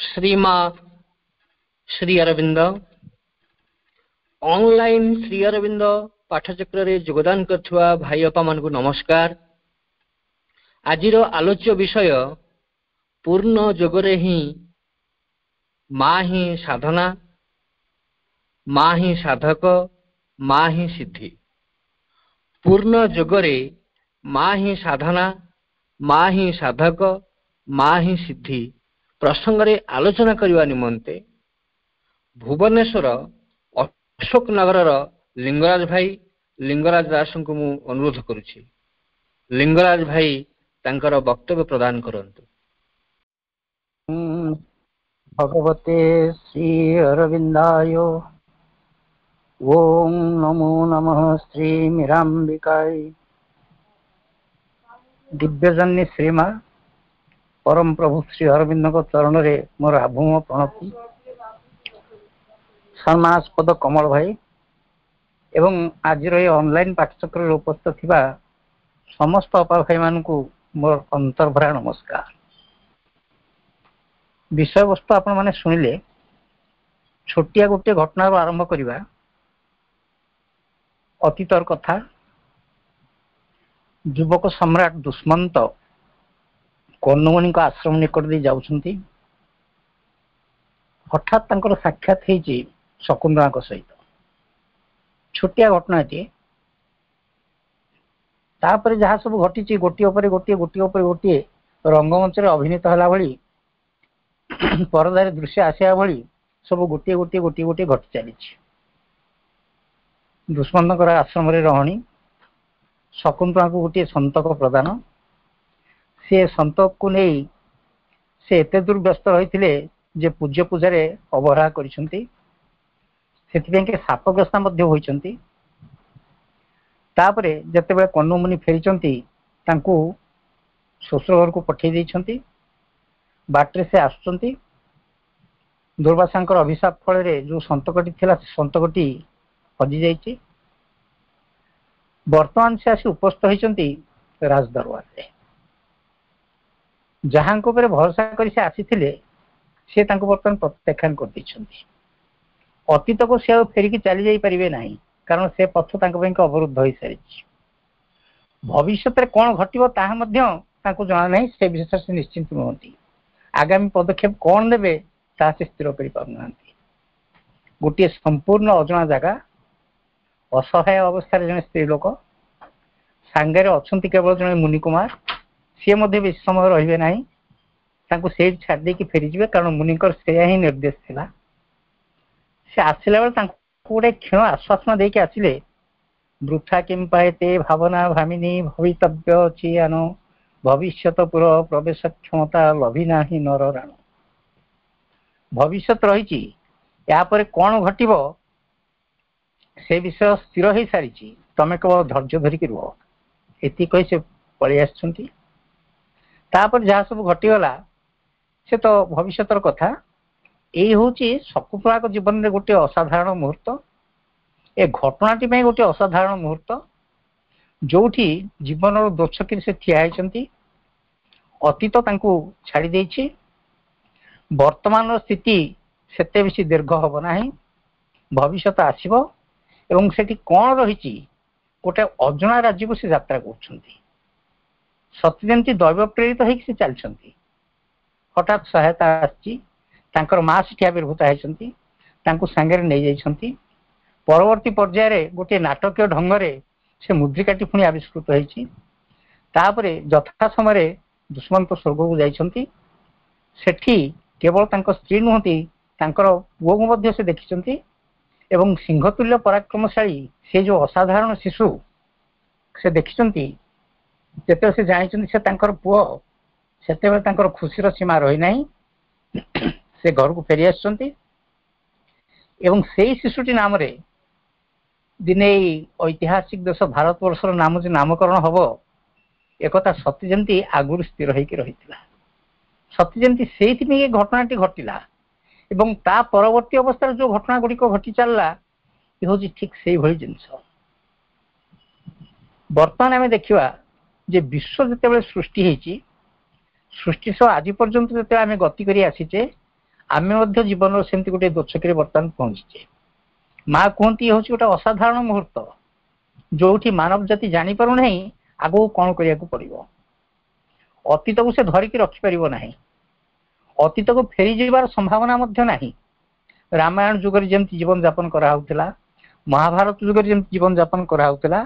Shrima Shri Arvind. Online Shri Arvind ପାଠଚକ୍ରରେ ଯୋଗଦାନ କରିଥିବା ଭାଇ ଅପାମାନଙ୍କୁ ନମସ୍କାର। ଆଜିର ଆଲୋଚ୍ୟ ବିଷୟ ପୂର୍ଣ୍ଣ ଯୋଗରେ ହିଁ ମା ହିଁ ସାଧନା, ମା ହିଁ ସାଧକ, ମା ହିଁ ସିଦ୍ଧି। ପୂର୍ଣ୍ଣ ଯୋଗରେ ମା ହିଁ ସାଧନା, ମା ହିଁ ସାଧକ, ମା ହିଁ ସିଦ୍ଧି ପ୍ରସଙ୍ଗରେ ଆଲୋଚନା କରିବା ନିମନ୍ତେ ଭୁବନେଶ୍ୱର ଅଶୋକ ନଗରର ଲିଙ୍ଗରାଜ ଭାଇ ଲିଙ୍ଗରାଜ ଦାସଙ୍କୁ ମୁଁ ଅନୁରୋଧ କରୁଛି। ଲିଙ୍ଗରାଜ ଭାଇ ତାଙ୍କର ବକ୍ତବ୍ୟ ପ୍ରଦାନ କରନ୍ତୁ। ଭଗବତେ ଶ୍ରୀ ଅରବିନ୍ଦାୟ ଓಂ ନମୋ ନମଃ ଶ୍ରୀ ମୀରାମ୍ବିକାୟ। ଦିବ୍ୟଜନନୀ ଶ୍ରୀମା ପରମ ପ୍ରଭୁ ଶ୍ରୀ ଅରବିନ୍ଦଙ୍କ ଚରଣରେ ମୋର ଆଭୂମ ପ୍ରଣତି। ସମ୍ମାନାସ୍ପଦ କମଳ ଭାଇ ଏବଂ ଆଜିର ଏହି ଅନଲାଇନ ପାଠଚକ୍ରରେ ଉପସ୍ଥିତ ଥିବା ସମସ୍ତ ଅପା ଭାଇମାନଙ୍କୁ ମୋର ଅନ୍ତର୍ଭରା ନମସ୍କାର। ବିଷୟବସ୍ତୁ ଆପଣମାନେ ଶୁଣିଲେ। ଛୋଟିଆ ଗୋଟିଏ ଘଟଣାରୁ ଆରମ୍ଭ କରିବା। ଅତୀତର କଥା। ଯୁବକ ସମ୍ରାଟ ଦୁଷ୍ମନ୍ତ କର୍ଣ୍ଣମଣିଙ୍କ ଆଶ୍ରମ ନିକଟ ଦେଇ ଯାଉଛନ୍ତି। ହଠାତ୍ ତାଙ୍କର ସାକ୍ଷାତ ହେଇଛି ଶକୁନ୍ତଳାଙ୍କ ସହିତ। ଛୋଟିଆ ଘଟଣାଟିଏ। ତାପରେ ଯାହା ସବୁ ଘଟିଛି ଗୋଟିଏ ଉପରେ ଗୋଟିଏ, ଗୋଟିଏ ଉପରେ ଗୋଟିଏ, ରଙ୍ଗମଞ୍ଚରେ ଅଭିନୀତ ହେଲା ଭଳି, ପରଦାରେ ଦୃଶ୍ୟ ଆସିବା ଭଳି ସବୁ ଗୋଟିଏ ଗୋଟିଏ ଗୋଟିଏ ଗୋଟିଏ ଘଟି ଚାଲିଛି। ଦୁଷ୍ମନ୍ତଙ୍କର ଆଶ୍ରମରେ ରହଣି, ଶକୁନ୍ତଳାଙ୍କୁ ଗୋଟିଏ ସନ୍ତକ ପ୍ରଦାନ। ସେ ସନ୍ତକକୁ ନେଇ ସେ ଏତେ ଦୂର ବ୍ୟସ୍ତ ରହିଥିଲେ ଯେ ପୂଜ୍ୟ ପୂଜାରେ ଅବହେଳା କରିଛନ୍ତି, ସେଥିପାଇଁ କି ଶାପଗ୍ରସ୍ତା ମଧ୍ୟ ହୋଇଛନ୍ତି। ତାପରେ ଯେତେବେଳେ କର୍ଣ୍ଣମୁନି ଫେରିଛନ୍ତି, ତାଙ୍କୁ ଶ୍ୱଶୁର ଘରକୁ ପଠେଇ ଦେଇଛନ୍ତି। ବାଟରେ ସେ ଆସୁଛନ୍ତି, ଦୁର୍ବାସାଙ୍କର ଅଭିଶାପ ଫଳରେ ଯୋଉ ସନ୍ତକଟି ଥିଲା ସେ ସନ୍ତକଟି ହଜି ଯାଇଛି। ବର୍ତ୍ତମାନ ସେ ଆସି ଉପସ୍ଥିତ ହୋଇଛନ୍ତି ରାଜ ଦରବାରରେ। ଯାହାଙ୍କ ଉପରେ ଭରସା କରି ସେ ଆସିଥିଲେ, ସେ ତାଙ୍କୁ ବର୍ତ୍ତମାନ ପ୍ରତ୍ୟାଖ୍ୟାନ କରିଦେଇଛନ୍ତି। ଅତୀତକୁ ସେ ଆଉ ଫେରିକି ଚାଲି ଯାଇପାରିବେ ନାହିଁ, କାରଣ ସେ ପଥ ତାଙ୍କ ପାଇଁ ଅବରୁଦ୍ଧ ହୋଇସାରିଛି। ଭବିଷ୍ୟତରେ କଣ ଘଟିବ ତାହା ମଧ୍ୟ ତାଙ୍କୁ ଜଣା ନାହିଁ। ସେ ବିଷୟରେ ସେ ନିଶ୍ଚିନ୍ତ ନୁହନ୍ତି। ଆଗାମୀ ପଦକ୍ଷେପ କଣ ନେବେ ତାହା ସେ ସ୍ଥିର କରିପାରୁନାହାନ୍ତି। ଗୋଟିଏ ସମ୍ପୂର୍ଣ୍ଣ ଅଜଣା ଜାଗା, ଅସହାୟ ଅବସ୍ଥାରେ ଜଣେ ସ୍ତ୍ରୀ ଲୋକ, ସାଙ୍ଗରେ ଅଛନ୍ତି କେବଳ ଜଣେ ମୁନି କୁମାର। ସିଏ ମଧ୍ୟ ବେଶୀ ସମୟ ରହିବେ ନାହିଁ, ତାଙ୍କୁ ସେଇଠି ଛାଡ଼ି ଦେଇକି ଫେରିଯିବେ, କାରଣ ମୁନିଙ୍କର ସେଇଆ ହିଁ ନିର୍ଦ୍ଦେଶ ଥିଲା। ସେ ଆସିଲା ବେଳେ ତାଙ୍କୁ ଗୋଟେ କ୍ଷୀଣ ଆଶ୍ୱାସନା ଦେଇକି ଆସିଲେ, ବୃଥା କିମ୍ପାଏତେ ଭାବନା ଭାମିନୀ ଭବିତବ୍ୟ ଅଛି ଆନ ଭବିଷ୍ୟତ ପୁର ପ୍ରବେଶ କ୍ଷମତା ଲଭି ନାହିଁ ନର ରାଣ। ଭବିଷ୍ୟତ ରହିଛି, ଏହାପରେ କଣ ଘଟିବ ସେ ବିଷୟ ସ୍ଥିର ହେଇସାରିଛି, ତମେ କେବଳ ଧୈର୍ଯ୍ୟ ଧରିକି ରୁହ। ଏତିକି କହି ସେ ପଳେଇ ଆସିଛନ୍ତି। ତାପରେ ଯାହା ସବୁ ଘଟିଗଲା ସେ ତ ଭବିଷ୍ୟତର କଥା। ଏଇ ହଉଛି ଶକୁନ୍ତଳାଙ୍କ ଜୀବନରେ ଗୋଟିଏ ଅସାଧାରଣ ମୁହୂର୍ତ୍ତ, ଏ ଘଟଣାଟି ପାଇଁ ଗୋଟିଏ ଅସାଧାରଣ ମୁହୂର୍ତ୍ତ, ଯୋଉଠି ଜୀବନର ଦୋଛକିରେ ସେ ଠିଆ ହେଇଛନ୍ତି। ଅତୀତ ତାଙ୍କୁ ଛାଡ଼ି ଦେଇଛି, ବର୍ତ୍ତମାନର ସ୍ଥିତି ସେତେ ବେଶୀ ଦୀର୍ଘ ହବ ନାହିଁ, ଭବିଷ୍ୟତ ଆସିବ ଏବଂ ସେଠି କଣ ରହିଛି, ଗୋଟେ ଅଜଣା ରାଜ୍ୟକୁ ସେ ଯାତ୍ରା କରୁଛନ୍ତି। ସତେ ଯେମିତି ଦୈବ ପ୍ରେରିତ ହେଇକି ସେ ଚାଲିଛନ୍ତି। ହଠାତ୍ ସହାୟତା ଆସିଛି, ତାଙ୍କର ମା ସେଠି ଆବିର୍ଭୂତ ହେଇଛନ୍ତି, ତାଙ୍କୁ ସାଙ୍ଗରେ ନେଇଯାଇଛନ୍ତି। ପରବର୍ତ୍ତୀ ପର୍ଯ୍ୟାୟରେ ଗୋଟିଏ ନାଟକୀୟ ଢଙ୍ଗରେ ସେ ମୁଦ୍ରିକାଟି ପୁଣି ଆବିଷ୍କୃତ ହେଇଛି। ତାପରେ ଯଥା ସମୟରେ ଦୁଷ୍ମନ୍ତ ସ୍ୱର୍ଗକୁ ଯାଇଛନ୍ତି। ସେଠି କେବଳ ତାଙ୍କ ସ୍ତ୍ରୀ ନୁହନ୍ତି, ତାଙ୍କର ପୁଅକୁ ମଧ୍ୟ ସେ ଦେଖିଛନ୍ତି ଏବଂ ସିଂହତୁଲ୍ୟ ପରାକ୍ରମଶାଳୀ ସେ ଯୋଉ ଅସାଧାରଣ ଶିଶୁ ସେ ଦେଖିଛନ୍ତି। ଯେତେବେଳେ ସେ ଜାଣିଛନ୍ତି ସେ ତାଙ୍କର ପୁଅ, ସେତେବେଳେ ତାଙ୍କର ଖୁସିର ସୀମା ରହିନାହିଁ। ସେ ଘରକୁ ଫେରି ଆସିଛନ୍ତି ଏବଂ ସେଇ ଶିଶୁଟି ନାମରେ ଦିନେ ଏଇ ଐତିହାସିକ ଦେଶ ଭାରତବର୍ଷର ନାମ ଯେ ନାମକରଣ ହବ, ଏକଥା ସତେ ଯେମିତି ଆଗରୁ ସ୍ଥିର ହେଇକି ରହିଥିଲା। ସତେ ଯେମିତି ସେଇଥିପାଇଁ ଏ ଘଟଣାଟି ଘଟିଲା ଏବଂ ତା ପରବର୍ତ୍ତୀ ଅବସ୍ଥାରେ ଯୋଉ ଘଟଣା ଗୁଡ଼ିକ ଘଟି ଚାଲିଲା, ଏ ହଉଛି ଠିକ ସେଇଭଳି ଜିନିଷ। ବର୍ତ୍ତମାନ ଆମେ ଦେଖିବା ଯେ ବିଶ୍ୱ ଯେତେବେଳେ ସୃଷ୍ଟି ହେଇଛି, ସୃଷ୍ଟି ସହ ଆଜି ପର୍ଯ୍ୟନ୍ତ ଯେତେବେଳେ ଆମେ ଗତି କରି ଆସିଛେ, ଆମେ ମଧ୍ୟ ଜୀବନର ସେମିତି ଗୋଟେ ଦୋଛକିରେ ବର୍ତ୍ତମାନ ପହଞ୍ଚିଛେ। ମା କୁହନ୍ତି, ଇଏ ହଉଛି ଗୋଟେ ଅସାଧାରଣ ମୁହୂର୍ତ୍ତ, ଯୋଉଠି ମାନବ ଜାତି ଜାଣିପାରୁନାହିଁ ଆଗକୁ କଣ କରିବାକୁ ପଡିବ। ଅତୀତକୁ ସେ ଧରିକି ରଖିପାରିବ ନାହିଁ, ଅତୀତକୁ ଫେରିଯିବାର ସମ୍ଭାବନା ମଧ୍ୟ ନାହିଁ। ରାମାୟଣ ଯୁଗରେ ଯେମିତି ଜୀବନ ଯାପନ କରାହଉଥିଲା, ମହାଭାରତ ଯୁଗରେ ଯେମିତି ଜୀବନ ଯାପନ କରାହଉଥିଲା,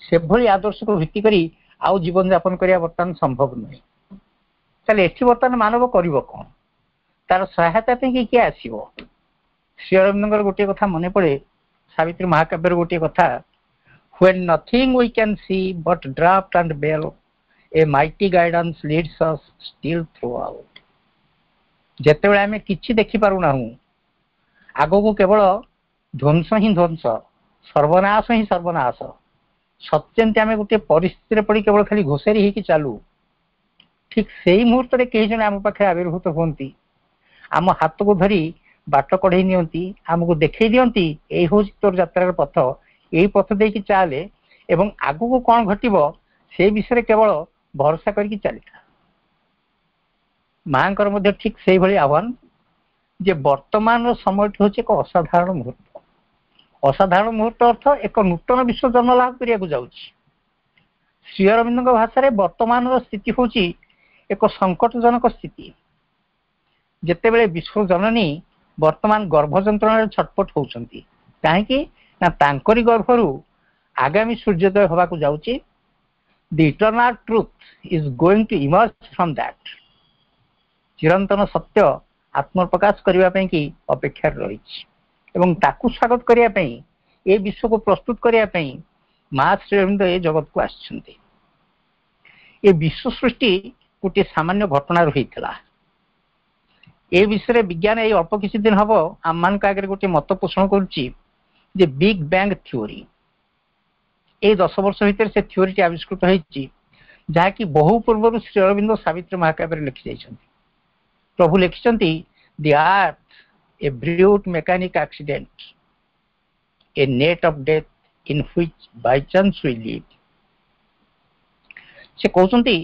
ସେଭଳି ଆଦର୍ଶକୁ ଭିତ୍ତି କରି ଆଉ ଜୀବନ ଯାପନ କରିବା ବର୍ତ୍ତମାନ ସମ୍ଭବ ନୁହେଁ। ତାହେଲେ ଏଠି ବର୍ତ୍ତମାନ ମାନବ କରିବ କଣ? ତାର ସହାୟତା ପାଇଁ କିଏ ଆସିବ? ଶ୍ରୀ ଅରବିନ୍ଦଙ୍କର ଗୋଟିଏ କଥା ମନେ ପଡେ, ସାବିତ୍ରୀ ମହାକାବ୍ୟର ଗୋଟିଏ କଥା, "When nothing we can see but draught and bale, a mighty guidance leads us still throughout." ଯେତେବେଳେ ଆମେ କିଛି ଦେଖିପାରୁନାହୁଁ, ଆଗକୁ କେବଳ ଧ୍ୱଂସ ହିଁ ଧ୍ୱଂସ, ସର୍ବନାଶ ହିଁ ସର୍ବନାଶ, ସତେ ଯେମିତି ଆମେ ଗୋଟିଏ ପରିସ୍ଥିତିରେ ପଡି କେବଳ ଖାଲି ଘୋଷାରି ହେଇକି ଚାଲୁ, ଠିକ ସେଇ ମୁହୂର୍ତ୍ତରେ କେହି ଜଣେ ଆମ ପାଖରେ ଆବିର୍ଭୂତ ହୁଅନ୍ତି, ଆମ ହାତକୁ ଧରି ବାଟ କଢେଇ ନିଅନ୍ତି, ଆମକୁ ଦେଖେଇ ଦିଅନ୍ତି, ଏଇ ହଉଛି ତୋର ଯାତ୍ରାର ପଥ, ଏଇ ପଥ ଦେଇକି ଚାଲେ ଏବଂ ଆଗକୁ କଣ ଘଟିବ ସେ ବିଷୟରେ କେବଳ ଭରସା କରିକି ଚାଲିଥା। ମାଙ୍କର ମଧ୍ୟ ଠିକ ସେଇଭଳି ଆହ୍ୱାନ ଯେ ବର୍ତ୍ତମାନର ସମୟଟି ହଉଛି ଏକ ଅସାଧାରଣ ମୁହୂର୍ତ୍ତ। ଅସାଧାରଣ ମୁହୂର୍ତ୍ତ ଅର୍ଥ ଏକ ନୂତନ ବିଶ୍ୱ ଜନ୍ମ ଲାଭ କରିବାକୁ ଯାଉଛି। ଶ୍ରୀ ଅରବିନ୍ଦଙ୍କ ଭାଷାରେ ବର୍ତ୍ତମାନର ସ୍ଥିତି ହଉଛି ଏକ ସଙ୍କଟଜନକ ସ୍ଥିତି, ଯେତେବେଳେ ବିଶ୍ୱ ଜନନୀ ବର୍ତ୍ତମାନ ଗର୍ଭ ଯନ୍ତ୍ରଣାରେ ଛଟପଟ ହଉଛନ୍ତି। କାହିଁକି ନା ତାଙ୍କରି ଗର୍ଭରୁ ଆଗାମୀ ସୂର୍ଯ୍ୟୋଦୟ ହବାକୁ ଯାଉଛି। The eternal truth is going to emerge from that. ଚିରନ୍ତନ ସତ୍ୟ ଆତ୍ମପ୍ରକାଶ କରିବା ପାଇଁ କି ଅପେକ୍ଷାରେ ରହିଛି ଏବଂ ତାକୁ ସ୍ୱାଗତ କରିବା ପାଇଁ, ଏ ବିଶ୍ୱକୁ ପ୍ରସ୍ତୁତ କରିବା ପାଇଁ ମା ଶ୍ରୀ ଅରବିନ୍ଦ ଏ ଜଗତକୁ ଆସିଛନ୍ତି। ଏ ବିଶ୍ୱ ସୃଷ୍ଟି ଗୋଟିଏ ସାମାନ୍ୟ ଘଟଣାରୁ ହେଇଥିଲା, ଏ ବିଷୟରେ ବିଜ୍ଞାନ ଏଇ ଅଳ୍ପ କିଛି ଦିନ ହବ ଆମମାନଙ୍କ ଆଗରେ ଗୋଟିଏ ମତ ପୋଷଣ କରୁଛି ଯେ ବିଗ୍ ବ୍ୟାଙ୍ଗ ଥିଓରି। ଏଇ 10 ବର୍ଷ ଭିତରେ ସେ ଥିଓରିଟି ଆବିଷ୍କୃତ ହେଇଛି, ଯାହାକି ବହୁ ପୂର୍ବରୁ ଶ୍ରୀ ଅରବିନ୍ଦ ସାବିତ୍ରୀ ମହାକାବ୍ୟରେ ଲେଖି ଯାଇଛନ୍ତି। ପ୍ରଭୁ ଲେଖିଛନ୍ତି, "The earth, a brute mechanic accident, a net of death in which by chance we live." ସେ କହୁଛନ୍ତି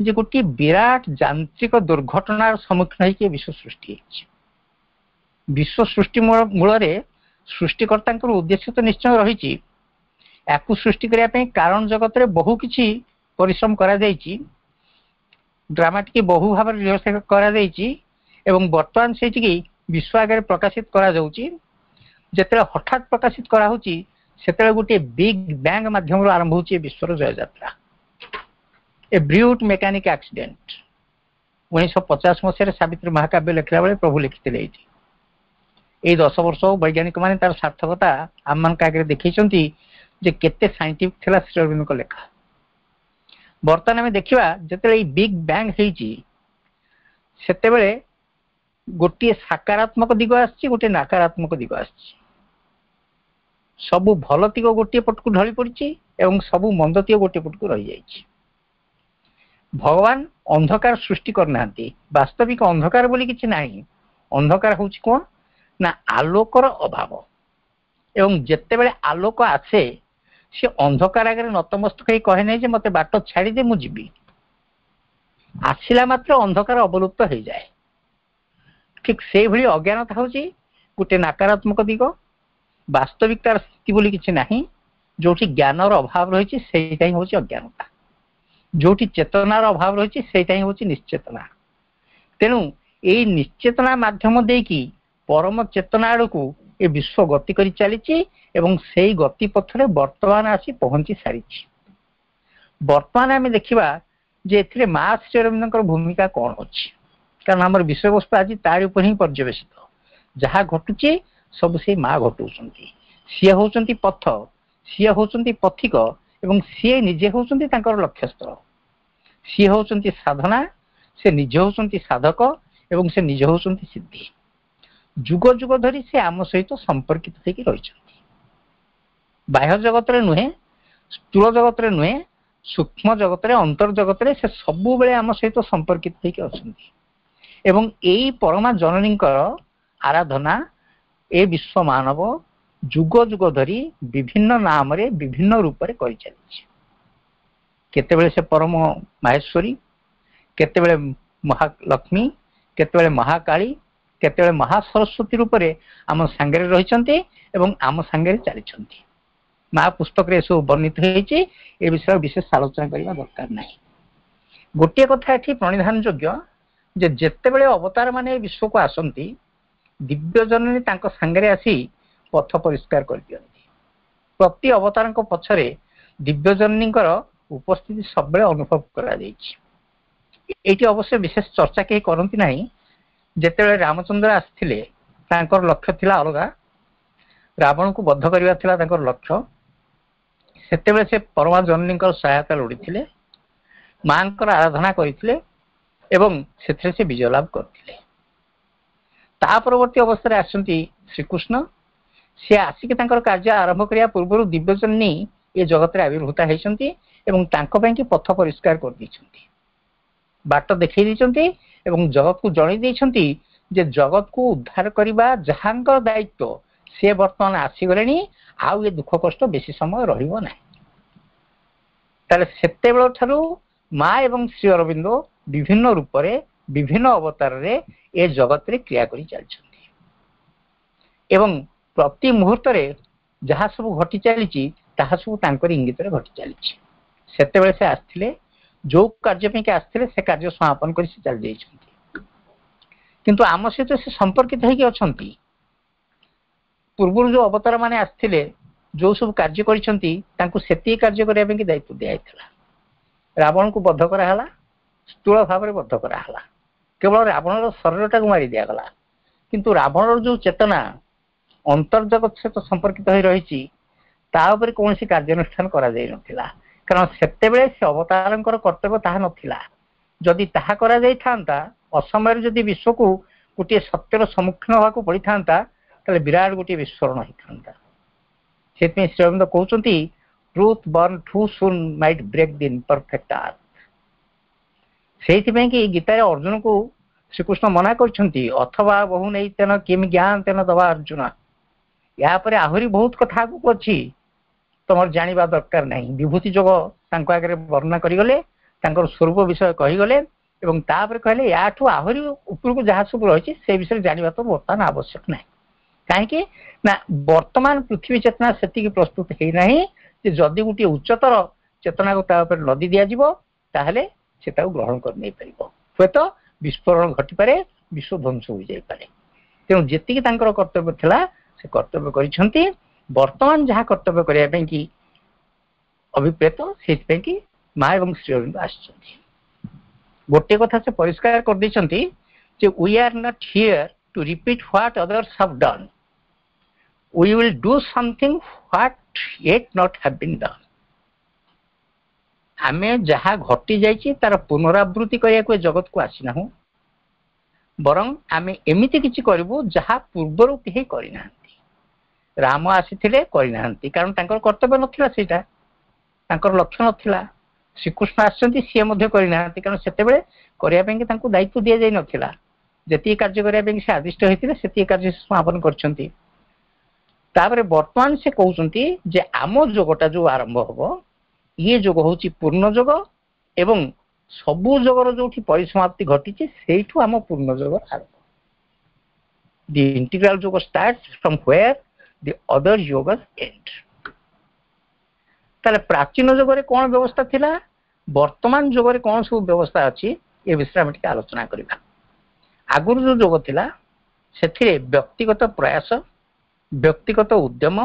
ଯେ ଗୋଟିଏ ବିରାଟ ଯାନ୍ତ୍ରିକ ଦୁର୍ଘଟଣାର ସମ୍ମୁଖୀନ ହେଇକି ବିଶ୍ୱ ସୃଷ୍ଟି ହେଇଛି। ବିଶ୍ୱ ସୃଷ୍ଟି ମୂଳରେ ସୃଷ୍ଟିକର୍ତ୍ତାଙ୍କର ଉଦ୍ଦେଶ୍ୟ ତ ନିଶ୍ଚୟ ରହିଛି। ୟାକୁ ସୃଷ୍ଟି କରିବା ପାଇଁ କାରଣ ଜଗତରେ ବହୁ କିଛି ପରିଶ୍ରମ କରାଯାଇଛି, ଡ୍ରାମାଟିକି ବହୁ ଭାବରେ ରିହର୍ସାଲ କରାଯାଇଛି ଏବଂ ବର୍ତ୍ତମାନ ସେଇଠିକି ବିଶ୍ୱ ଆଗରେ ପ୍ରକାଶିତ କରାଯାଉଛି। ଯେତେବେଳେ ହଠାତ୍ ପ୍ରକାଶିତ କରାହଉଛି, ସେତେବେଳେ ଗୋଟିଏ ବିଗ୍ ବ୍ୟାଙ୍ଗ ମାଧ୍ୟମରୁ ଆରମ୍ଭ ହଉଛି ଏ ବିଶ୍ୱର ଜୟଯାତ୍ରା। ଏ ବ୍ରିଉଟ୍ ମେକାନିକ ଆକ୍ସିଡେଣ୍ଟ, 1950 ମସିହାରେ ସାବିତ୍ରୀ ମହାକାବ୍ୟ ଲେଖିଲା ବେଳେ ପ୍ରଭୁ ଲେଖିଥିଲେ ଏଇଠି। ଏଇ 10 ବର୍ଷ ବୈଜ୍ଞାନିକ ମାନେ ତାର ସାର୍ଥକତା ଆମମାନଙ୍କ ଆଗରେ ଦେଖେଇଛନ୍ତି ଯେ କେତେ ସାଇଣ୍ଟିଫିକ ଥିଲା ଶ୍ରୀ ଅରବିନ୍ଦଙ୍କ ଲେଖା। ବର୍ତ୍ତମାନ ଆମେ ଦେଖିବା, ଯେତେବେଳେ ଏଇ ବିଗ୍ ବ୍ୟାଙ୍ଗ ହେଇଛି, ସେତେବେଳେ ଗୋଟିଏ ସକାରାତ୍ମକ ଦିଗ ଆସିଛି, ଗୋଟିଏ ନକାରାତ୍ମକ ଦିଗ ଆସିଛି। ସବୁ ଭଲ ଦିଗ ଗୋଟିଏ ପଟକୁ ଢଳି ପଡିଛି ଏବଂ ସବୁ ମନ୍ଦ ଦିଗ ଗୋଟିଏ ପଟକୁ ରହିଯାଇଛି। ଭଗବାନ ଅନ୍ଧକାର ସୃଷ୍ଟି କରିନାହାନ୍ତି। ବାସ୍ତବିକ ଅନ୍ଧକାର ବୋଲି କିଛି ନାହିଁ। ଅନ୍ଧକାର ହଉଛି କଣ ନା ଆଲୋକର ଅଭାବ ଏବଂ ଯେତେବେଳେ ଆଲୋକ ଆସେ, ସେ ଅନ୍ଧକାର ଆଗରେ ନତମସ୍ତକ ହେଇ କହେ ନାହିଁ ଯେ ମତେ ବାଟ ଛାଡ଼ିଦେ, ମୁଁ ଯିବି। ଆସିଲା ମାତ୍ର ଅନ୍ଧକାର ଅବଲୁପ୍ତ ହେଇଯାଏ। ଠିକ ସେଇଭଳି ଅଜ୍ଞାନତା ହଉଛି ଗୋଟେ ନକାରାତ୍ମକ ଦିଗ। ବାସ୍ତବିକତାର ସ୍ଥିତି ବୋଲି କିଛି ନାହିଁ। ଯୋଉଠି ଜ୍ଞାନର ଅଭାବ ରହିଛି, ସେଇଟା ହିଁ ହଉଛି ଅଜ୍ଞାନତା। ଯୋଉଠି ଚେତନାର ଅଭାବ ରହିଛି, ସେଇଟା ହିଁ ହଉଛି ନିଶ୍ଚେତନା। ତେଣୁ ଏଇ ନିଶ୍ଚେତନା ମାଧ୍ୟମ ଦେଇକି ପରମ ଚେତନା ଆଡକୁ ଏ ବିଶ୍ୱ ଗତି କରି ଚାଲିଛି ଏବଂ ସେଇ ଗତି ପଥରେ ବର୍ତ୍ତମାନ ଆସି ପହଞ୍ଚି ସାରିଛି। ବର୍ତ୍ତମାନ ଆମେ ଦେଖିବା ଯେ ଏଥିରେ ମା ଶ୍ରୀ ଅରବିନ୍ଦଙ୍କର ଭୂମିକା କଣ ଅଛି, କାରଣ ଆମର ବିଷୟବସ୍ତୁ ଆଜି ତାରି ଉପରେ ହିଁ ପର୍ଯ୍ୟବେସିତ। ଯାହା ଘଟୁଛି, ସବୁ ସେଇ ମା ଘଟଉଛନ୍ତି। ସିଏ ହଉଛନ୍ତି ପଥ, ସିଏ ହଉଛନ୍ତି ପଥିକ ଏବଂ ସିଏ ନିଜେ ହଉଛନ୍ତି ତାଙ୍କର ଲକ୍ଷ୍ୟସ୍ଥଳ। ସିଏ ହଉଛନ୍ତି ସାଧନା, ସେ ନିଜେ ହଉଛନ୍ତି ସାଧକ ଏବଂ ସେ ନିଜେ ହଉଛନ୍ତି ସିଦ୍ଧି। ଯୁଗ ଯୁଗ ଧରି ସେ ଆମ ସହିତ ସମ୍ପର୍କିତ ହେଇକି ରହିଛନ୍ତି। ବାହ୍ୟ ଜଗତରେ ନୁହେଁ, ସ୍ଥୂଳ ଜଗତରେ ନୁହେଁ, ସୂକ୍ଷ୍ମ ଜଗତରେ, ଅନ୍ତର ଜଗତରେ ସେ ସବୁବେଳେ ଆମ ସହିତ ସମ୍ପର୍କିତ ହେଇକି ଅଛନ୍ତି ଏବଂ ଏଇ ପରମା ଜନନୀଙ୍କର ଆରାଧନା ଏ ବିଶ୍ୱ ମାନବ ଯୁଗ ଯୁଗ ଧରି ବିଭିନ୍ନ ନାମରେ, ବିଭିନ୍ନ ରୂପରେ କରିଚାଲିଛି। କେତେବେଳେ ସେ ପରମ ମାହେଶ୍ୱରୀ, କେତେବେଳେ ମହାଲକ୍ଷ୍ମୀ, କେତେବେଳେ ମହାକାଳୀ, କେତେବେଳେ ମହାସରସ୍ୱତୀ ରୂପରେ ଆମ ସାଙ୍ଗରେ ରହିଛନ୍ତି ଏବଂ ଆମ ସାଙ୍ଗରେ ଚାଲିଛନ୍ତି। ମା ପୁସ୍ତକରେ ଏସବୁ ବର୍ଣ୍ଣିତ ହେଇଛି। ଏ ବିଷୟରେ ବିଶେଷ ଆଲୋଚନା କରିବା ଦରକାର ନାହିଁ। ଗୋଟିଏ କଥା ଏଠି ପ୍ରଣିଧାନ ଯୋଗ୍ୟ ଯେ ଯେତେବେଳେ ଅବତାର ମାନେ ବିଶ୍ୱକୁ ଆସନ୍ତି, ଦିବ୍ୟ ଜନନୀ ତାଙ୍କ ସାଙ୍ଗରେ ଆସି ପଥ ପରିଷ୍କାର କରିଦିଅନ୍ତି। ପ୍ରତି ଅବତାରଙ୍କ ପଛରେ ଦିବ୍ୟ ଜନନୀଙ୍କର ଉପସ୍ଥିତି ସବୁବେଳେ ଅନୁଭବ କରାଯାଇଛି। ଏଇଠି ଅବଶ୍ୟ ବିଶେଷ ଚର୍ଚ୍ଚା କେହି କରନ୍ତି ନାହିଁ। ଯେତେବେଳେ ରାମଚନ୍ଦ୍ର ଆସିଥିଲେ, ତାଙ୍କର ଲକ୍ଷ୍ୟ ଥିଲା ଅଲଗା, ରାବଣକୁ ବଦ୍ଧ କରିବା ଥିଲା ତାଙ୍କର ଲକ୍ଷ୍ୟ। ସେତେବେଳେ ସେ ପରମା ଜନନୀଙ୍କର ସହାୟତା ଲୋଡ଼ିଥିଲେ, ମାଙ୍କର ଆରାଧନା କରିଥିଲେ ଏବଂ ସେଥିରେ ସେ ବିଜୟ ଲାଭ କରିଥିଲେ। ତା ପରବର୍ତ୍ତୀ ଅବସ୍ଥାରେ ଆସିଛନ୍ତି ଶ୍ରୀକୃଷ୍ଣ। ସେ ଆସିକି ତାଙ୍କର କାର୍ଯ୍ୟ ଆରମ୍ଭ କରିବା ପୂର୍ବରୁ ଦିବ୍ୟଜନନୀ ଏ ଜଗତରେ ଆବିର୍ଭୂତା ହେଇଛନ୍ତି ଏବଂ ତାଙ୍କ ପାଇଁ କି ପଥ ପରିଷ୍କାର କରିଦେଇଛନ୍ତି, ବାଟ ଦେଖେଇ ଦେଇଛନ୍ତି ଏବଂ ଜଗତକୁ ଜଣେଇ ଦେଇଛନ୍ତି ଯେ ଜଗତକୁ ଉଦ୍ଧାର କରିବା ଯାହାଙ୍କର ଦାୟିତ୍ୱ, ସେ ବର୍ତ୍ତମାନ ଆସିଗଲେଣି, ଆଉ ଏ ଦୁଃଖ କଷ୍ଟ ବେଶୀ ସମୟ ରହିବ ନାହିଁ। ତାହେଲେ ସେତେବେଳ ଠାରୁ ମା ଏବଂ ଶ୍ରୀ ଅରବିନ୍ଦ ବିଭିନ୍ନ ରୂପରେ, ବିଭିନ୍ନ ଅବତାରରେ ଏ ଜଗତରେ କ୍ରିୟା କରି ଚାଲିଛନ୍ତି ଏବଂ ପ୍ରତି ମୁହୂର୍ତ୍ତରେ ଯାହା ସବୁ ଘଟି ଚାଲିଛି, ତାହା ସବୁ ତାଙ୍କର ଇଙ୍ଗିତରେ ଘଟି ଚାଲିଛି। ସେତେବେଳେ ସେ ଆସିଥିଲେ, ଯୋଉ କାର୍ଯ୍ୟ ପାଇଁକି ଆସିଥିଲେ ସେ କାର୍ଯ୍ୟ ସମାପନ କରି ସେ ଚାଲି ଯାଇଛନ୍ତି, କିନ୍ତୁ ଆମ ସହିତ ସେ ସମ୍ପର୍କିତ ହେଇକି ଅଛନ୍ତି। ପୂର୍ବରୁ ଯୋଉ ଅବତାର ମାନେ ଆସିଥିଲେ, ଯୋଉ ସବୁ କାର୍ଯ୍ୟ କରିଛନ୍ତି, ତାଙ୍କୁ ସେତିକି କାର୍ଯ୍ୟ କରିବା ପାଇଁ ଦାୟିତ୍ୱ ଦିଆଯାଇଥିଲା। ରାବଣକୁ ବଦ୍ଧ କରାହେଲା, ସ୍ଥୂଳ ଭାବରେ ବଦ୍ଧ କରାହେଲା, କେବଳ ରାବଣର ଶରୀରଟାକୁ ମାରି ଦିଆଗଲା, କିନ୍ତୁ ରାବଣର ଯୋଉ ଚେତନା ଅନ୍ତର୍ଜଗତ ସହିତ ସମ୍ପର୍କିତ ହୋଇ ରହିଛି, ତା ଉପରେ କୌଣସି କାର୍ଯ୍ୟାନୁଷ୍ଠାନ କରାଯାଇ ନଥିଲା, କାରଣ ସେତେବେଳେ ସେ ଅବତାରଙ୍କର କର୍ତ୍ତବ୍ୟ ତାହା ନଥିଲା। ଯଦି ତାହା କରାଯାଇଥାନ୍ତା, ଅସମୟରେ ଯଦି ବିଶ୍ୱକୁ ଗୋଟିଏ ସତ୍ୟର ସମ୍ମୁଖୀନ ହେବାକୁ ପଡିଥାନ୍ତା, ତାହେଲେ ବିରାଟ ଗୋଟିଏ ବିସ୍ଫୋରଣ ହେଇଥାନ୍ତା। ସେଥିପାଇଁ ଶ୍ରୀ ଅରବିନ୍ଦ କହୁଛନ୍ତି, "Truth born too soon might break the imperfect earth." ସେଇଥିପାଇଁ କି ଗୀତାରେ ଅର୍ଜୁନକୁ ଶ୍ରୀକୃଷ୍ଣ ମନା କରିଛନ୍ତି, "ଅଥବା ବହୁନୈତେନ କିମ୍ ଜ୍ଞାତେନ ତବାର୍ଜୁନ।" ୟା ପରେ ଆହୁରି ବହୁତ କଥା ଆଗକୁ ଅଛି, ତମର ଜାଣିବା ଦରକାର ନାହିଁ। ବିଭୂତି ଯୋଗ ତାଙ୍କ ଆଗରେ ବର୍ଣ୍ଣନା କରିଗଲେ, ତାଙ୍କର ସ୍ୱରୂପ ବିଷୟ କହିଗଲେ ଏବଂ ତାପରେ କହିଲେ, ୟାଠୁ ଆହୁରି ଉପରକୁ ଯାହା ସବୁ ରହିଛି, ସେ ବିଷୟରେ ଜାଣିବା ତ ବର୍ତ୍ତମାନ ଆବଶ୍ୟକ ନାହିଁ। କାହିଁକି ନା ବର୍ତ୍ତମାନ ପୃଥିବୀ ଚେତନା ସେତିକି ପ୍ରସ୍ତୁତ ହେଇନାହିଁ ଯେ ଯଦି ଗୋଟିଏ ଉଚ୍ଚତର ଚେତନାକୁ ତା ଉପରେ ଲଦି ଦିଆଯିବ, ତାହେଲେ ସେ ତାକୁ ଗ୍ରହଣ କରି ନେଇପାରିବ। ହୁଏତ ବିସ୍ଫୋରଣ ଘଟିପାରେ, ବିଶ୍ୱ ଧ୍ୱଂସ ହୋଇଯାଇପାରେ। ତେଣୁ ଯେତିକି ତାଙ୍କର କର୍ତ୍ତବ୍ୟ ଥିଲା, ସେ କର୍ତ୍ତବ୍ୟ କରିଛନ୍ତି। ବର୍ତ୍ତମାନ ଯାହା କର୍ତ୍ତବ୍ୟ କରିବା ପାଇଁ କି ଅଭିପ୍ରେତ, ସେଇଥିପାଇଁ କି ମା ଏବଂ ଶ୍ରୀ ଅରବିନ୍ଦ ଆସିଛନ୍ତି। ଗୋଟିଏ କଥା ସେ ପରିଷ୍କାର କରିଦେଇଛନ୍ତି ଯେ we are not here to repeat what others have done. We will do something what yet not have been done. ଆମେ ଯାହା ଘଟି ଯାଇଛି ତାର ପୁନରାବୃତ୍ତି କରିବାକୁ ଏ ଜଗତକୁ ଆସିନାହୁଁ, ବରଂ ଆମେ ଏମିତି କିଛି କରିବୁ ଯାହା ପୂର୍ବରୁ କେହି କରିନାହାନ୍ତି। ରାମ ଆସିଥିଲେ, କରିନାହାନ୍ତି, କାରଣ ତାଙ୍କର କର୍ତ୍ତବ୍ୟ ନଥିଲା, ସେଇଟା ତାଙ୍କର ଲକ୍ଷ୍ୟ ନଥିଲା। ଶ୍ରୀକୃଷ୍ଣ ଆସିଛନ୍ତି, ସିଏ ମଧ୍ୟ କରିନାହାନ୍ତି, କାରଣ ସେତେବେଳେ କରିବା ପାଇଁ ତାଙ୍କୁ ଦାୟିତ୍ୱ ଦିଆଯାଇ ନଥିଲା। ଯେତିକି କାର୍ଯ୍ୟ କରିବା ପାଇଁ ସେ ଆଦିଷ୍ଟ ହେଇଥିଲେ, ସେତିକି କାର୍ଯ୍ୟ ସେ ସମାପନ କରିଛନ୍ତି। ତାପରେ ବର୍ତ୍ତମାନ ସେ କହୁଛନ୍ତି ଯେ ଆମ ଯୋଗଟା ଯୋଉ ଆରମ୍ଭ ହବ, ଇଏ ଯୋଗ ହଉଛି ପୂର୍ଣ୍ଣ ଯୋଗ ଏବଂ ସବୁ ଯୋଗର ଯୋଉଠି ପରିସମାପ୍ତି ଘଟିଛି, ସେଇଠୁ ଆମ ପୂର୍ଣ୍ଣ ଯୋଗ ଆରମ୍ଭ। The integral yoga starts from where the other yogas end. ତାହେଲେ ପ୍ରାଚୀନ ଯୁଗରେ କଣ ବ୍ୟବସ୍ଥା ଥିଲା, ବର୍ତ୍ତମାନ ଯୁଗରେ କଣ ସବୁ ବ୍ୟବସ୍ଥା ଅଛି, ଏ ବିଷୟରେ ଆମେ ଟିକେ ଆଲୋଚନା କରିବା। ଆଗରୁ ଯୋଉ ଯୋଗ ଥିଲା, ସେଥିରେ ବ୍ୟକ୍ତିଗତ ପ୍ରୟାସ, ବ୍ୟକ୍ତିଗତ ଉଦ୍ୟମ